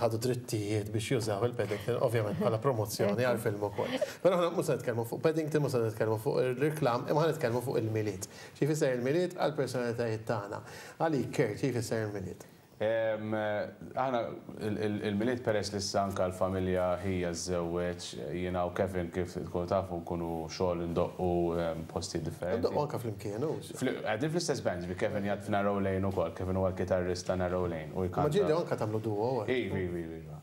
Speaker 2: ħadu drittijiet biex jużaw il-Paddington, ovvjament bħala promozzjoni għall-film ukoll. Però aħna mhux se nitkellmu fuq Paddington, mhux se nitkellmu fuq ir-reklam, imma ħa nitkellmu fuq il-Milied. Xi jfisser il-Milied għall-personalitajiet tagħna? Għalik Kurt, xi jfisser il-Milied?
Speaker 4: Aħna il-Milied peress li issa anke l-familja ħija żżewweġ, jiena u Kevin kif tkunu tafu nkunu xogħol indoqqu postijiet differenti.
Speaker 2: Indoqqu anke flimkien, hux?
Speaker 4: Qegħdin fl-istess band, ġifieri Kevin jgħid f'Narrow Lane ukoll, Kevin huwa l-kitarrist ta' Narrow Lane u jkanta.
Speaker 2: Ma ġieli anke tagħmlu duo.
Speaker 4: Iva, iva, iva.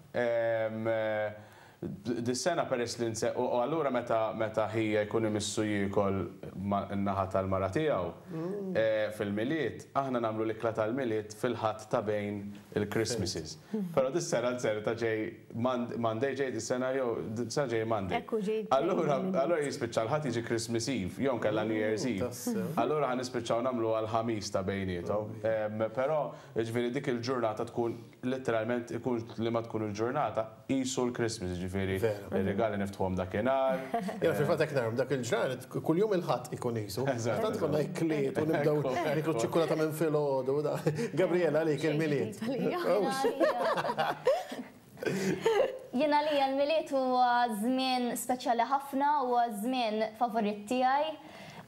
Speaker 4: Dis-sena peress li nse u allura meta meta ħija jkun imissu jiekol man-naħa tal-mara tiegħu fil-Milied, aħna nagħmlu l-ikla tal-Milied fil-Ħadd ta' bejn il-Christmases. Però dis-sena nzerta ġej Monday ġej dis-sena jew dis-sena ġej Monday.
Speaker 3: Ekku ġej.
Speaker 4: Allura allura jispiċċa l-Ħadd jiġi Christmas Eve jew inkella New Year's Eve. Allura ħa nispiċċaw nagħmluha l-Ħamis ta' bejniethom. Però jiġifieri dik il-ġurnata tkun Letteralment ikun liema tkun il-ġurnata, qisu l-Christmas, jiġifieri ir-rigali niftħuhom dakinhar.
Speaker 2: Jiena fil-fatt hekk narahom, dak il-ġranet kuljum il-Ħadd ikun qisu. Tant ikollna ikliet u nibdew nieklu ċ-ċikkulata minn filgħodu. Gabriela għalik il-Milied.
Speaker 5: Jien għalija l-Milied huwa żmien speċjali ħafna, huwa ż-żmien favorit tiegħi.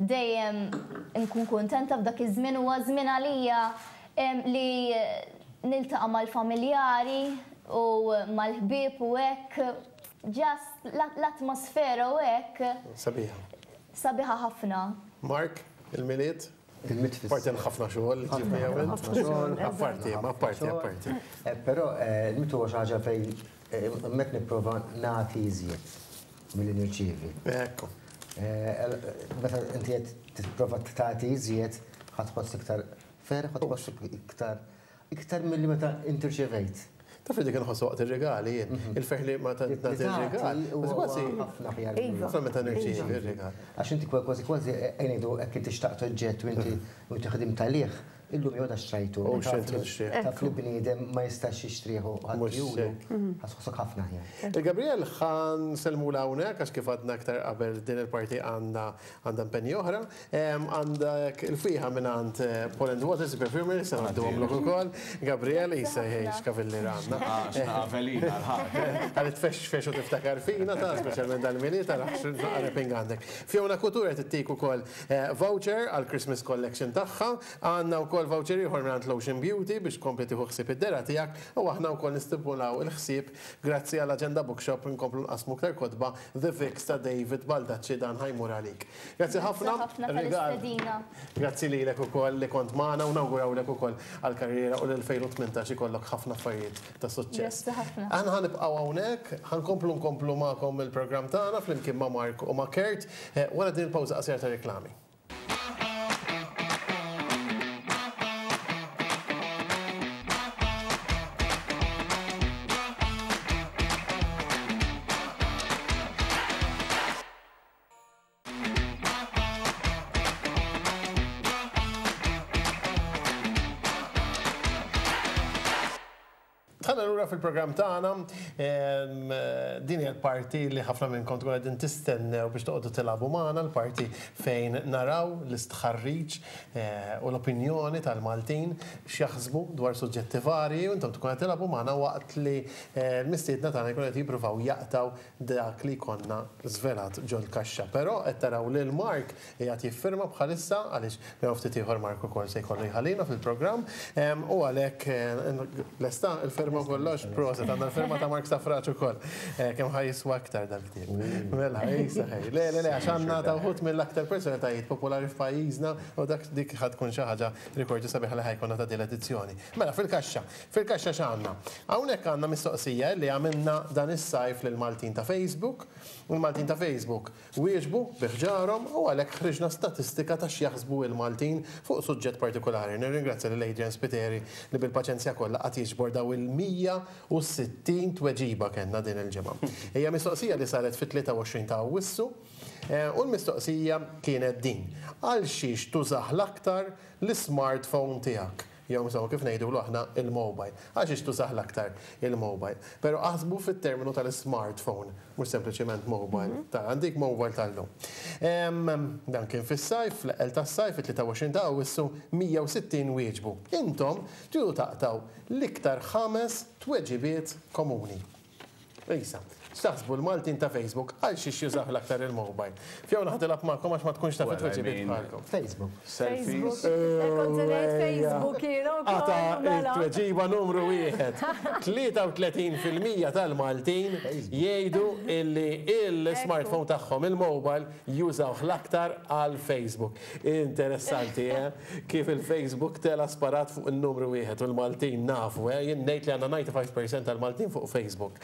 Speaker 5: Dejjem inkun kuntenta f'dak iż-żmien, huwa żmien għalija Li niltaqa' mal-familjari u mal-ħbieb u hekk, just l-atmosfera u hekk.
Speaker 2: Sabiħa.
Speaker 5: Sabiħa ħafna.
Speaker 2: Mark, il-Milied?
Speaker 9: Il-Milied fis.
Speaker 2: Apparti hemm ħafna xogħol li ġġib miegħu int.
Speaker 9: Ħafna xogħol.
Speaker 2: Apparti, imma apparti, apparti.
Speaker 9: Però il-Milied huwa xi ħaġa fejn hemmhekk nipprova nagħti iżjed milli nirċievi.
Speaker 2: Ekku.
Speaker 9: Meta inti qed tipprova tagħti iżjed, ħa tħoss iktar Ferħ u tħossok iktar iktar milli meta inti rċevejt.
Speaker 2: Taf li dik inħoss waqt ir-rigali jien, il-ferħ li meta nagħti r-rigal. Kważi
Speaker 9: ħafna aħjar.
Speaker 2: Ħafna meta nirċievi r-rigal.
Speaker 9: Għax inti kważi kważi ngħidu hekk inti xtaqt oġġett u inti u inti ħdimt għalih. Illum jew ta' xtrajtu.
Speaker 2: U xejn tixtrih.
Speaker 9: Taf li bniedem ma jistax jixtrih u ħadd juru. Ħa tħossok ħafna aħjar.
Speaker 2: Il-Gabriel ħa nsellmulha hawnhekk għax kif għadna aktar qabel din il-parti għandha għandha impenji oħra. Għandek il-fwieħa mingħand Paul and Waters, il-perfumery, se ngħadduhomlok ukoll. Gabriel, isa jgħix kavilliera għandna.
Speaker 4: X'naqa' velina l-ħadd.
Speaker 2: Ħalli tfexfex u tiftakar fina ta' speċjalment dal-Milied tara x'naqa' wrapping għandek. Fiona Couture qed ittik ukoll voucher għall-Christmas collection tagħha. Għandna wkoll voucher ieħor mingħand Lotion Beauty biex tkompli tieħu ħsieb id-dehra tiegħek u aħna wkoll nistipulaw il-ħsieb grazzi għal Agenda Bookshop nkomplu nqassmu aktar kotba The Fix ta' David Baldacci dan ħa jmur għalik. Grazzi ħafna.
Speaker 5: Grazzi ħafna tal-istedina.
Speaker 2: Grazzi lilek ukoll li kont magħna u nawgurawlek ukoll għall-karriera u l-2018 ikollok ħafna affarijiet ta' suċċess.
Speaker 5: Grazzi ħafna.
Speaker 2: Aħna ħa nibqgħu hawnhekk, ħa nkomplu nkomplu magħkom il-programm tagħna flimkien ma' Mark u ma' Kurt wara din il-pawża qasira ta' reklami. Dħalna lura fil-programm tagħna, din hija l-parti li ħafna minnkom tkun qegħdin tistennew biex toqgħodu tilagħbu magħna, l-parti fejn naraw l-istħarriġ u l-opinjoni tal-Maltin x'jaħsbu dwar suġġetti varji u intom tkun qed tilagħbu magħna waqt li l-mistiedna tagħna jkunu qed jippruvaw jaqtgħu dak li jkollna żvelat ġol-kaxxa. Però qed taraw lil Mark qiegħed jiffirma bħalissa għaliex minn hawn ftit ieħor Mark ukoll se jkollu jħallina fil-programm u għalhekk lesta l-firma u kollox? Proset, għandna l-firma ta' Mark Stafrace ukoll. Kemm ħa jiswa aktar dal-ktieb. Mela, isa ħej. Le, le, le, għax għandna ta' wħud mill-aktar personalitajiet popolari f'pajjiżna u dak dik ħa tkun xi ħaġa rikordju sabiħa li ħa jkollna ta' din l-edizzjoni. Mela, fil-kaxxa. Fil-kaxxa x'għandna? Hawnhekk għandna mistoqsija li għamilna dan is-sajf lill-Maltin ta' Facebook. U l-Maltin ta' Facebook wieġbu bi ħġarhom u għalhekk ħriġna statistika ta' x'jaħsbu l-Maltin fuq suġġett partikolari. Nirringrazzja lil Adrian Spiteri li bil-paċenzja kollha qagħad jiġbor daw il-160 tweġiba kellna din il-ġimgħa. Hija mistoqsija li saret fit-23 ta' Awwissu u l-mistoqsija kienet din, Għal xiex tużah l-aktar l-ismartphone tiegħek? Jew insomma kif ngħidulu aħna il-mobile. Għalxiex tużah l-aktar il-mobile. Però aħsbu fit-terminu tal-ismartphone, mhux sempliċiment mobile. Ta' għandik mobile tal-lum. Dan kien fis-sajf, fl-eqqel tas-sajf, fit-23 ta' Awwissu, 160 wieġbu. Intom tridu taqtgħu l-iktar ħames tweġibiet komuni. Isa, x'taħsbu l-Maltin ta' Facebook għal xiex jużah l-aktar il-mobile? Fiona ħa tilgħab magħkom għax ma tkunx taf it-tweġibiet bħalkom.
Speaker 9: Facebook.
Speaker 4: Selfies.
Speaker 3: Kont se ngħid Facebook jiena wkoll.
Speaker 2: Qata' it-tweġiba numru wieħed. 33% tal-Maltin jgħidu illi il-smartphone tagħhom, il-mobile, jużawh l-aktar għal Facebook. Interessanti, eh? Kif il-Facebook tela' sparat fuq in-numru wieħed u l-Maltin nafu, eh? Jien ngħid li għandna 95% tal-Maltin fuq Facebook.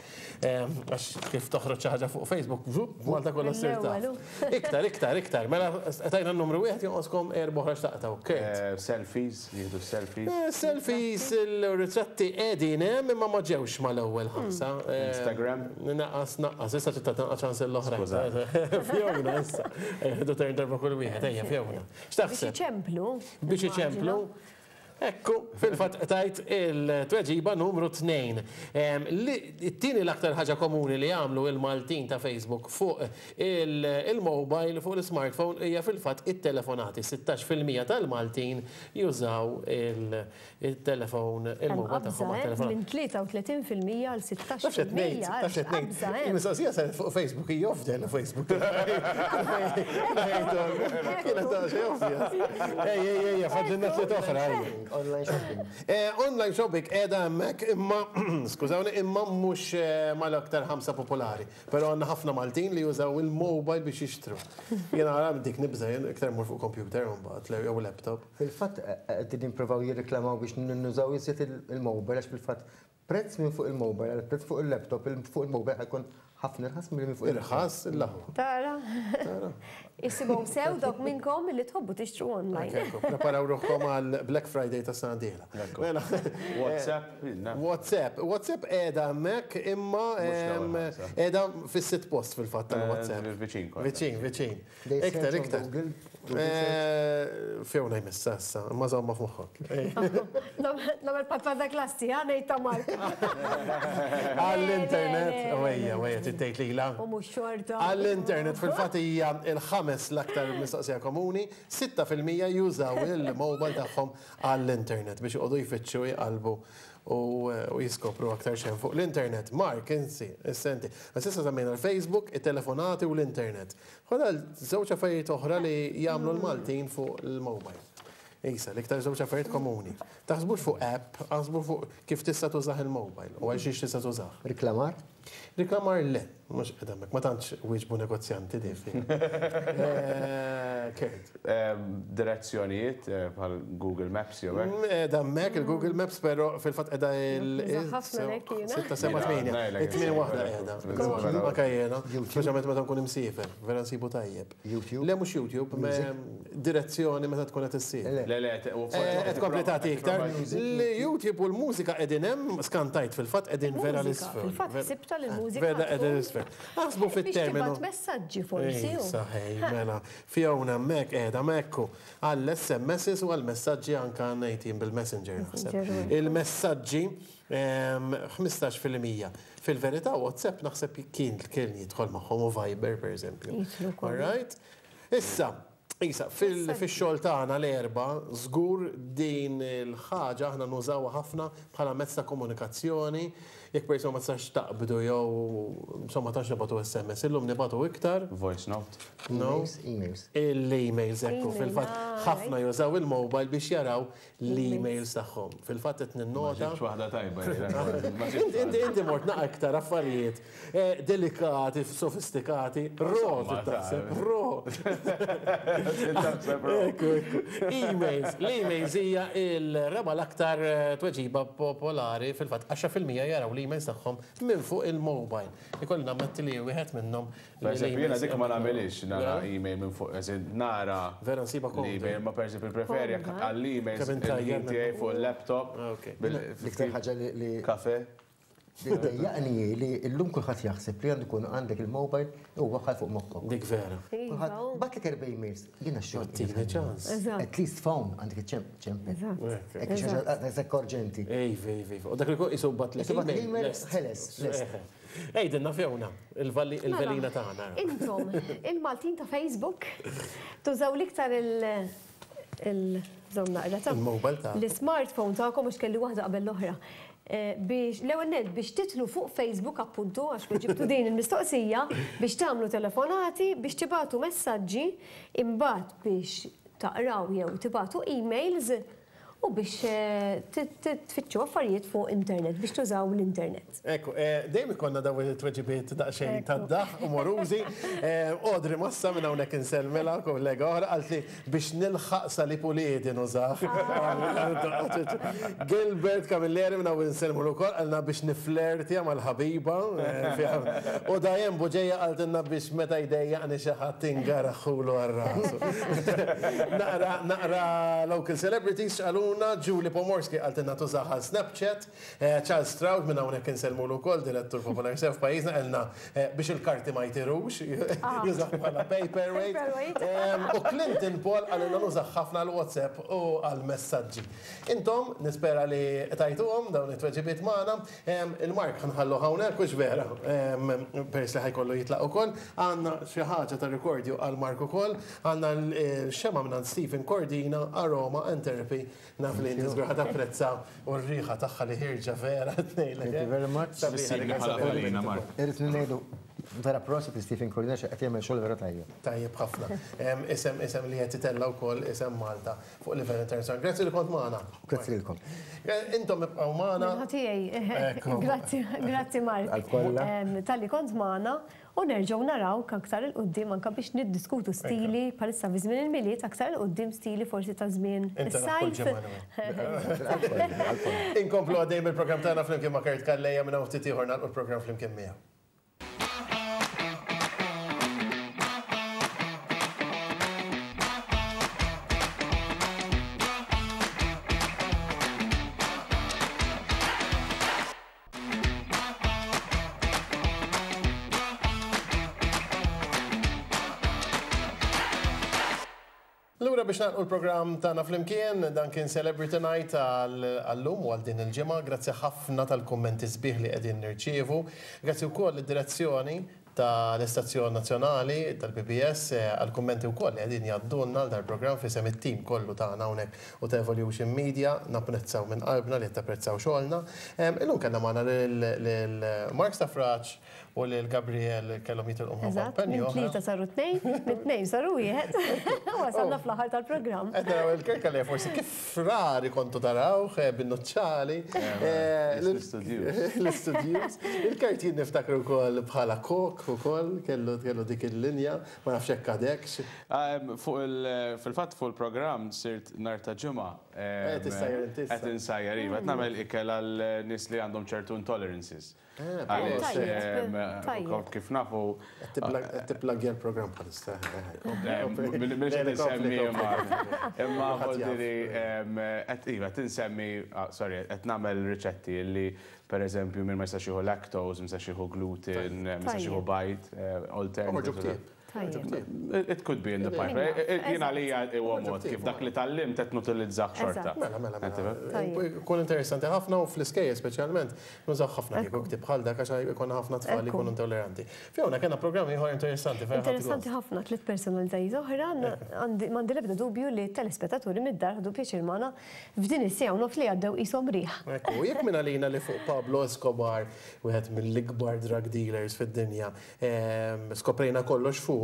Speaker 2: Għax kif toħroġ xi ħaġa fuq Facebook, vup, Malta kollha ssir taf. Iktar, iktar, iktar. Mela tajna n-numru wieħed jonqoskom erba' oħra x'taqtgħu. Kurt.
Speaker 4: Selfies, jieħdu selfies.
Speaker 2: Selfies, il-ritratti qegħdin hemm imma ma ġewx mal-ewwel ħamsa.
Speaker 4: Instagram.
Speaker 2: Naqqas, naqqas, issa trid tagħti naqra ċans lill-oħrajn. Fiona issa. Ejja, turn darba kull wieħed, ejja Fiona. X'taħseb?
Speaker 3: Biex iċemplu.
Speaker 2: Biex iċemplu. Ekku, fil-fatt qtajt il-tweġiba numru 2. It-tieni l-aktar ħaġa komuni li jagħmlu il-Maltin ta' Facebook fuq il-mobile, fuq l-smartphone, hija fil-fatt it-telefonati. 16% tal-Maltin jużaw il-telefon, il-mobile tagħhom għat-telefonati.
Speaker 3: Minn 33% għal 16%.
Speaker 2: Taf x'qed ngħid, taf x'qed ngħid. Il-mistoqsija saret fuq Facebook, hija ovvja li Facebook. Kienet xi ovvja. Ej, ej, ej, fadlilna tliet oħra.
Speaker 9: Online shopping.
Speaker 2: Online shopping qiegħda hemmhekk imma, skużawni, imma mhux mal-aktar ħamsa popolari. Però għandna ħafna Maltin li jużaw il-mobile biex jixtru. Jiena ara dik nibża' jien iktar mmur fuq computer imbagħad jew laptop.
Speaker 9: Fil-fatt qegħdin jippruvaw jirriklamaw biex nużaw iżjed il-mobile għax fil-fatt prezz minn fuq il-mobile għal prezz fuq il-laptop, fuq il-mobile ħa jkun ħafna irħas milli minn fuq il-laptop.
Speaker 2: Irħas l-aħwa.
Speaker 3: Tara.
Speaker 2: Tara.
Speaker 3: Isimgħu sew dawk minnkom li tħobbu tixtru online.
Speaker 2: Ekku, preparaw ruħkom għal Black Friday tas-sena d-dieħla. Mela.
Speaker 4: WhatsApp.
Speaker 2: WhatsApp. WhatsApp qiegħda hemmhekk imma qiegħda fis-sitt post fil-fatt tal-WhatsApp.
Speaker 4: Viċin.
Speaker 2: Viċin, viċin. Iktar, iktar. Fiona jmissa issa, imma żomma f'moħħok.
Speaker 3: Nagħmel patwa ta' klassi, ha ngħid ta' Mark.
Speaker 2: Għall-internet, wejja, wejja, trid tgħid lilha.
Speaker 3: U mhux xorta.
Speaker 2: Għall-internet fil-fatt hija l-ħames l-aktar mistoqsija komuni, 6% jużaw il-mobile tagħhom għall-internet biex joqogħdu jfittxu jqallbu u jiskopru aktar x'hemm fuq l-internet. Mark, insi, issa inti. Għax issa semmejna l-Facebook, it-telefonati u l-internet. Fadal żewġ affarijiet oħra li jagħmlu l-Maltin fuq il-mobile. Isa, l-iktar żewġ affarijiet komuni. Taħsbux fuq app, aħsbu fuq kif tista' tużah il-mobile u għal xiex tista' tużah.
Speaker 9: Riklamar?
Speaker 2: Riklamar le, mhux qed hemmhekk, ma tantx wieġbu negozjanti di fi. Kurt.
Speaker 4: Direzzjonijiet bħal Google Maps jew hekk.
Speaker 2: Qiegħda hemmhekk il-Google Maps però fil-fatt qiegħda il.
Speaker 3: Ħafna hekk jiena.
Speaker 2: 6, 7, 8. It-tmien waħda qiegħda. Anke jiena, speċjalment meta nkun imsiefer, vera nsibu tajjeb.
Speaker 9: YouTube?
Speaker 2: Le mhux YouTube, direzzjoni meta tkun qed issiefer.
Speaker 4: Le le,
Speaker 2: qed tkompli tagħti iktar. L-YouTube u l-mużika qegħdin hemm, skantajt fil-fatt qegħdin vera l-isfel.
Speaker 3: Fil-fatt ħsibtha li l-mużika.
Speaker 2: Vera qegħdin l-isfel. Aħsbu fit-terminu.
Speaker 3: Biex tibgħat messaġġi forsi.
Speaker 2: Saħej, mela. Fiona hemmhekk qiegħda hemmhekk u għall-SMSs u għall-messaġġi anke ngħid jien bil-Messenger naħseb. Il-messaġġi 15%. Fil-verità WhatsApp naħseb kien kien jidħol magħhom u Viber pereżempju. All right? Issa, Isa, fix-xogħol tagħna l-Erbgħa, żgur din il-ħaġa aħna nużawha ħafna bħala mezz ta' komunikazzjoni. Jekk persuna ma tistax taqbdu jew insomma tantx nibagħtu SMS, illum nibagħtu iktar.
Speaker 4: Voice note.
Speaker 2: No.
Speaker 9: Emails.
Speaker 2: Il-emails ekku fil-fatt ħafna jużaw il-mobile biex jaraw l-emails tagħhom. Fil-fatt qed ninnota.
Speaker 4: Ma ġibtx waħda tajba.
Speaker 2: Inti inti mort naqa' iktar affarijiet delikati, sofistikati, ro taħseb, ro.
Speaker 4: Taħseb ro.
Speaker 2: Ekku, ekku. Emails. L-emails hija il-raba' l-aktar tweġiba popolari, fil-fatt 10% jaraw l-emails tagħhom minn fuq il-mobile. Ikolli nammetti li wieħed minnhom.
Speaker 4: Pereżempju, jiena dik ma nagħmilhiex nara email minn fuq, as in nara.
Speaker 2: Vera nsibha komda.
Speaker 4: L-email, ma pereżempju nippreferi jekk għall-emails il-ħin tiegħi fuq il-laptop.
Speaker 9: L-iktar ħaġa li.
Speaker 4: Kafe.
Speaker 9: Li ddejjaqni hi li llum kulħadd jaħseb li għandu jkun għandek il-mobile u waħħal fuq moħħok.
Speaker 2: Dik vera.
Speaker 9: Kulħadd bagħatlek erba' emails, jiena x-xogħol.
Speaker 2: Tini ċans.
Speaker 9: At least phone għandek iċċempel. Hekk xi ħaġa daqshekk urġenti.
Speaker 2: Iva, iva, iva. U dak li jkun qisu bagħatlek
Speaker 9: email. Ħeles, lest.
Speaker 2: Għidilna Fiona, il-velina tagħna.
Speaker 3: Intom, il-Maltin ta' Facebook, tużaw l-iktar il- il-żomm naqra ta'
Speaker 2: Il-mobile ta'
Speaker 3: l-smartphone tagħkom għax kelli waħda qabel l-oħra. Biex l-ewwel nett biex titlu fuq Facebook appuntu għax weġibtu din il-mistoqsija biex tagħmlu telefonati, biex tibagħtu messaġġi, imbagħad biex taqraw jew tibagħtu emails u biex tfittxu affarijiet fuq internet, biex tużaw l-internet.
Speaker 2: Ekku, dejjem ikollna dawn it-tweġibiet daqsxejn tad-daħq umorużi. Audrey Massa minn hawnhekk insellmilha, kollega oħra, qaltli Biex nilħaq salib uliedi nużah. Gilbert Camilleri minn hawn insellmulu wkoll qalna biex niflertja mal-ħabiba. U Diane Bugeja qaltilna biex meta jdejjaqni xi ħadd ingaraħħulu għal rasu. Naqra naqra local celebrities x'qalulna, Julie Pomorski qaltilna tużah għal Snapchat. Charles Stroud minn hawnhekk insellmulu wkoll, direttur popolari sew f'pajjiżna, qalilna biex il-karti ma jtirux, jużah bħala paperweight. U Clinton Paul qalilna nużah ħafna għal WhatsApp u għal messaġġi. Intom, nispera li tajtuhom dawn it-tweġibiet magħna. Il-Mark ħa nħalluh hawnhekk, hux vera? Peress li ħa jkollu jitlaq ukoll. Għandna xi ħaġa ta' rikordju għal Mark ukoll. Għandna l-xemgħa mingħand Stephen Cordina, Aroma and Therapy. Naf li inti żgur ħa tapprezza u r-riħa tagħha li ħierġa vera tnejlek.
Speaker 9: Thank you very much.
Speaker 2: Sabiħa li
Speaker 4: bħala Paulina, Mark.
Speaker 9: Irrid ngħidu vera prosit li Stephen Cordina qed jagħmel xogħol vera tajjeb.
Speaker 2: Tajjeb ħafna. Isem isem li qed itella' wkoll isem Malta fuq livell internazzjonali. Grazzi li kont magħna.
Speaker 9: Grazzi lilkom.
Speaker 2: Intom ibqgħu magħna.
Speaker 3: Minħa tiegħi. Grazzi, grazzi Mark. Talli kont magħna. U nerġgħu narawk aktar 'il quddiem anke biex niddiskutu stili bħalissa fi żmien il-Milied aktar 'il quddiem stili forsi ta' żmien is-sajf.
Speaker 2: Inkomplu għaddejjin bil-programm tagħna flimkien ma' Kurt Calleja minn hawn ftit ieħor nagħlqu l-programm flimkien miegħu. Lura biex nagħlqu l-programm tagħna flimkien, dan kien Celebrity Night għal-lum u għal din il-ġimgħa. Grazzi ħafna tal-kummenti sbieħ li qegħdin nirċievu. Grazzi wkoll lid-direzzjoni tal-istazzjon nazzjonali tal-PBS għall-kummenti wkoll li qegħdin jgħaddulna għal dal-programm f'isem it-tim kollu tagħna hawnhekk u ta' Evolution Media. Napprezzaw minn qalbna li qed tapprezzaw xogħolna. Illum kellna magħna lil Mark Stafrace U lil Gabriel kellhom jitilqu minħabba
Speaker 3: Eżatt,
Speaker 2: impenji
Speaker 3: minn
Speaker 2: oħra.
Speaker 3: tlieta saru tnejn, minn tnejn saru wieħed. Wasalna fl-aħħar tal-programm.
Speaker 2: Qed naraw il-Kirk għalija forsi kif rari kontu tarawh bin-nuċċali.
Speaker 4: L-istudjuż.
Speaker 2: L-istudjuż. Il-Kurt jien niftakru wkoll bħala kok ukoll, kellu kellu dik il-linja, ma nafx hekk għadekx.
Speaker 4: Fuq il fil-fatt fuq il-programm sirt nhar ta' Ġimgħa.
Speaker 2: Qed issajjar inti issa.
Speaker 4: Qed insajjar iva, qed nagħmel ikel għal nies li għandhom ċertu intolerances. Għaliex, kif nafu.
Speaker 2: Qed tipplagja l-programm bħalissa.
Speaker 4: Mhux qed insemmi imma. Imma voldiri qed iva qed insemmi, sorry, qed nagħmel riċetti li pereżempju min ma jistax jieħu lactose, ma jistax jieħu gluten, ma jistax jieħu bajd, alternatives. It could be in the pipeline. Jien għalija huwa mod kif dak li tgħallimt qed nutilizzah xorta.
Speaker 2: Mela, mela, mela. Ikun interessanti ħafna u fl-iskejjel speċjalment nużaw ħafna kieku ktieb bħal dak għax ikollna ħafna tfal li jkunu intolleranti. Fiona, kellna programm ieħor interessanti fejn ħadt gost.
Speaker 3: Interessanti ħafna, tliet personalitajiet oħra, m'għandi l-ebda dubju li t-telespettaturi mid-dar ħadu pjaċir magħna f'din is-siegħa u nofs li għaddew qishom riħ.
Speaker 2: Ekku, jekk minn għalina li fuq Pablo Escobar, wieħed mill-ikbar drug dealers fid-dinja, Skoprejna kollox fuqu.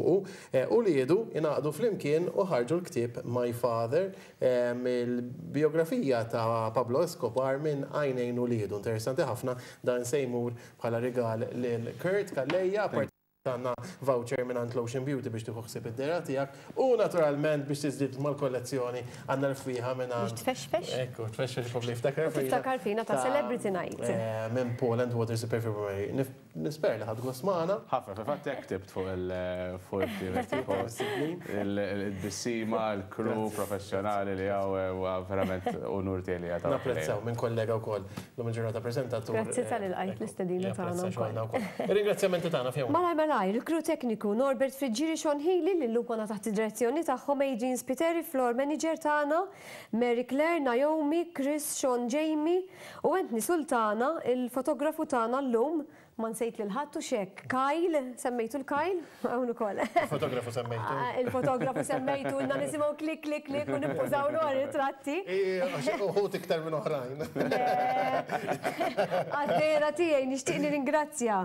Speaker 2: Uliedu ingħaqdu flimkien u ħarġu l-ktieb My Father, il-bijografija ta' Pablo Escobar minn għajnejn uliedu. Interessanti ħafna, dan se jmur bħala rigal lil Kurt Calleja. Apparti għandna voucher mingħand Lotion Beauty biex tieħu ħsieb id-dehra tiegħek u naturalment biex tiżdied mal-kollezzjoni għandna l-fwieħa mingħand.
Speaker 3: Biex tfexfex.
Speaker 2: Ekku, tfexfex kompli jiftakar
Speaker 3: fina. Tiftakar fina ta' Celebrity Night.
Speaker 2: Minn Paul and Waters Perfumery. Nispera li ħadt gost magħna.
Speaker 4: Ħafna, fil-fatt hekk ktibt fuq il-fuq il-tbissima, il-crew professjonali li hawn huwa verament unur tiegħi li qiegħed hawn.
Speaker 2: Napprezzaw minn kollega wkoll llum il-ġurnata preżentatur.
Speaker 3: Grazzi talli lqajt l-istedina tagħna wkoll.
Speaker 2: Ir-ringrazzjamenti tagħna Fiona.
Speaker 3: Malajr malajr, il-crew tekniku Norbert Friggieri Sean Healy li llum konna taħt id-direzzjoni tagħhom, Adrian Spiteri, floor manager tagħna, Mary Claire, Naomi, Chris, Sean Jamie, U Anthony Sultana, il-fotografu tagħna llum, ma nsejt lil ħadd hux hekk? Kyle, semmejtu l-Kyle? Hawn ukoll.
Speaker 2: Il-fotografu semmejtu.
Speaker 3: Il-fotografu semmejtu, ilna nisimgħu klik klik klik u nippużawlu għar-ritratti.
Speaker 2: Uħud iktar minn oħrajn.
Speaker 3: Le. Għad-dehra tiegħi nixtieq nirringrazzja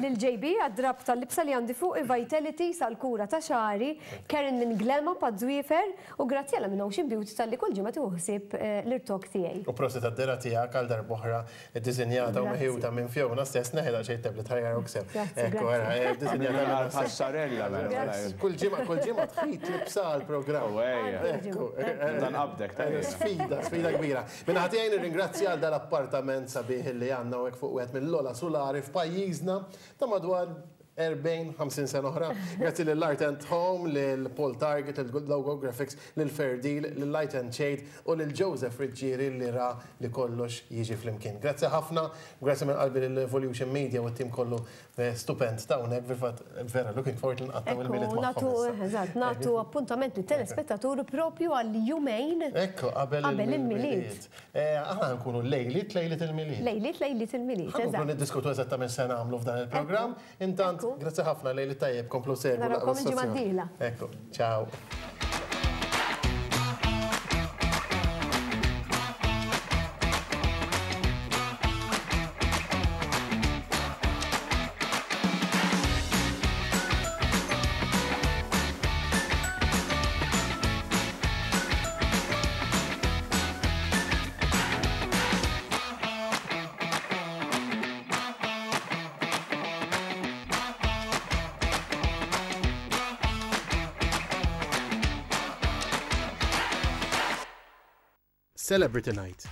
Speaker 3: lil JB għad-drapp tal-libsa li għandi fuqi, Vitality sal-kura ta' xagħri, Karen minn Glema Pad-Dwiefer, U Graziella minn Ocean Beauty talli kull ġimgħa tieħu ħsieb l-irtokk tiegħi.
Speaker 2: U prosit għad-dehra tiegħek għal darb'oħra ddisinjata u meħjuta minn Fiona stess, neħi daqsxejn it-tablet ħa jarawk sew.
Speaker 3: Grazzi,
Speaker 2: Ekku, ara,
Speaker 3: grazzi.
Speaker 2: ddisinjata
Speaker 4: Għamilna
Speaker 2: minnha stess.
Speaker 4: passarella mela.
Speaker 2: Kull ġimgħa, kull ġimgħa tħit libsa għall-programm.
Speaker 4: U ejja.
Speaker 2: Ekku.
Speaker 4: Nibda nqabbdek, tajjeb.
Speaker 2: Sfida, sfida kbira. Min-naħa tiegħi nirringrazzja għal dal-appartament sabiħ li għandna hawnhekk fuq wieħed mill-ogħla sulari f'pajjiżna ta' madwar 40, 50 sena oħra. Grazzi lil Art and Home, lil Paul Target, lil Logo Graphics, lil Fair Deal, lil Light and Shade u lil Joseph Friggieri li ra li kollox jiġi flimkien. Grazzi ħafna, grazzi minn qalbi lil Evolution Media u t-tim kollu stupend ta' hawnhekk, fil-fatt vera looking forward li nqattgħu il-Milied magħhom issa.
Speaker 3: Ekku, eżatt, nagħtu appuntament lit-telespettaturi propju għal jumejn
Speaker 2: Ekku, qabel il-Milied. Aħna nkunu lejliet lejliet il-Milied.
Speaker 3: Lejliet lejliet il-Milied, eżatt.
Speaker 2: Ħa nkomplu niddiskutu eżattament x'se nagħmlu f'dan il-programm. Intant, grazzi ħafna, lejl it-tajjeb, komplu segwu l-aqwa
Speaker 3: Narawkom il-ġimgħa
Speaker 2: stazzjon.
Speaker 3: d-dieħla.
Speaker 2: Ekku, ciao. Celebrity Night.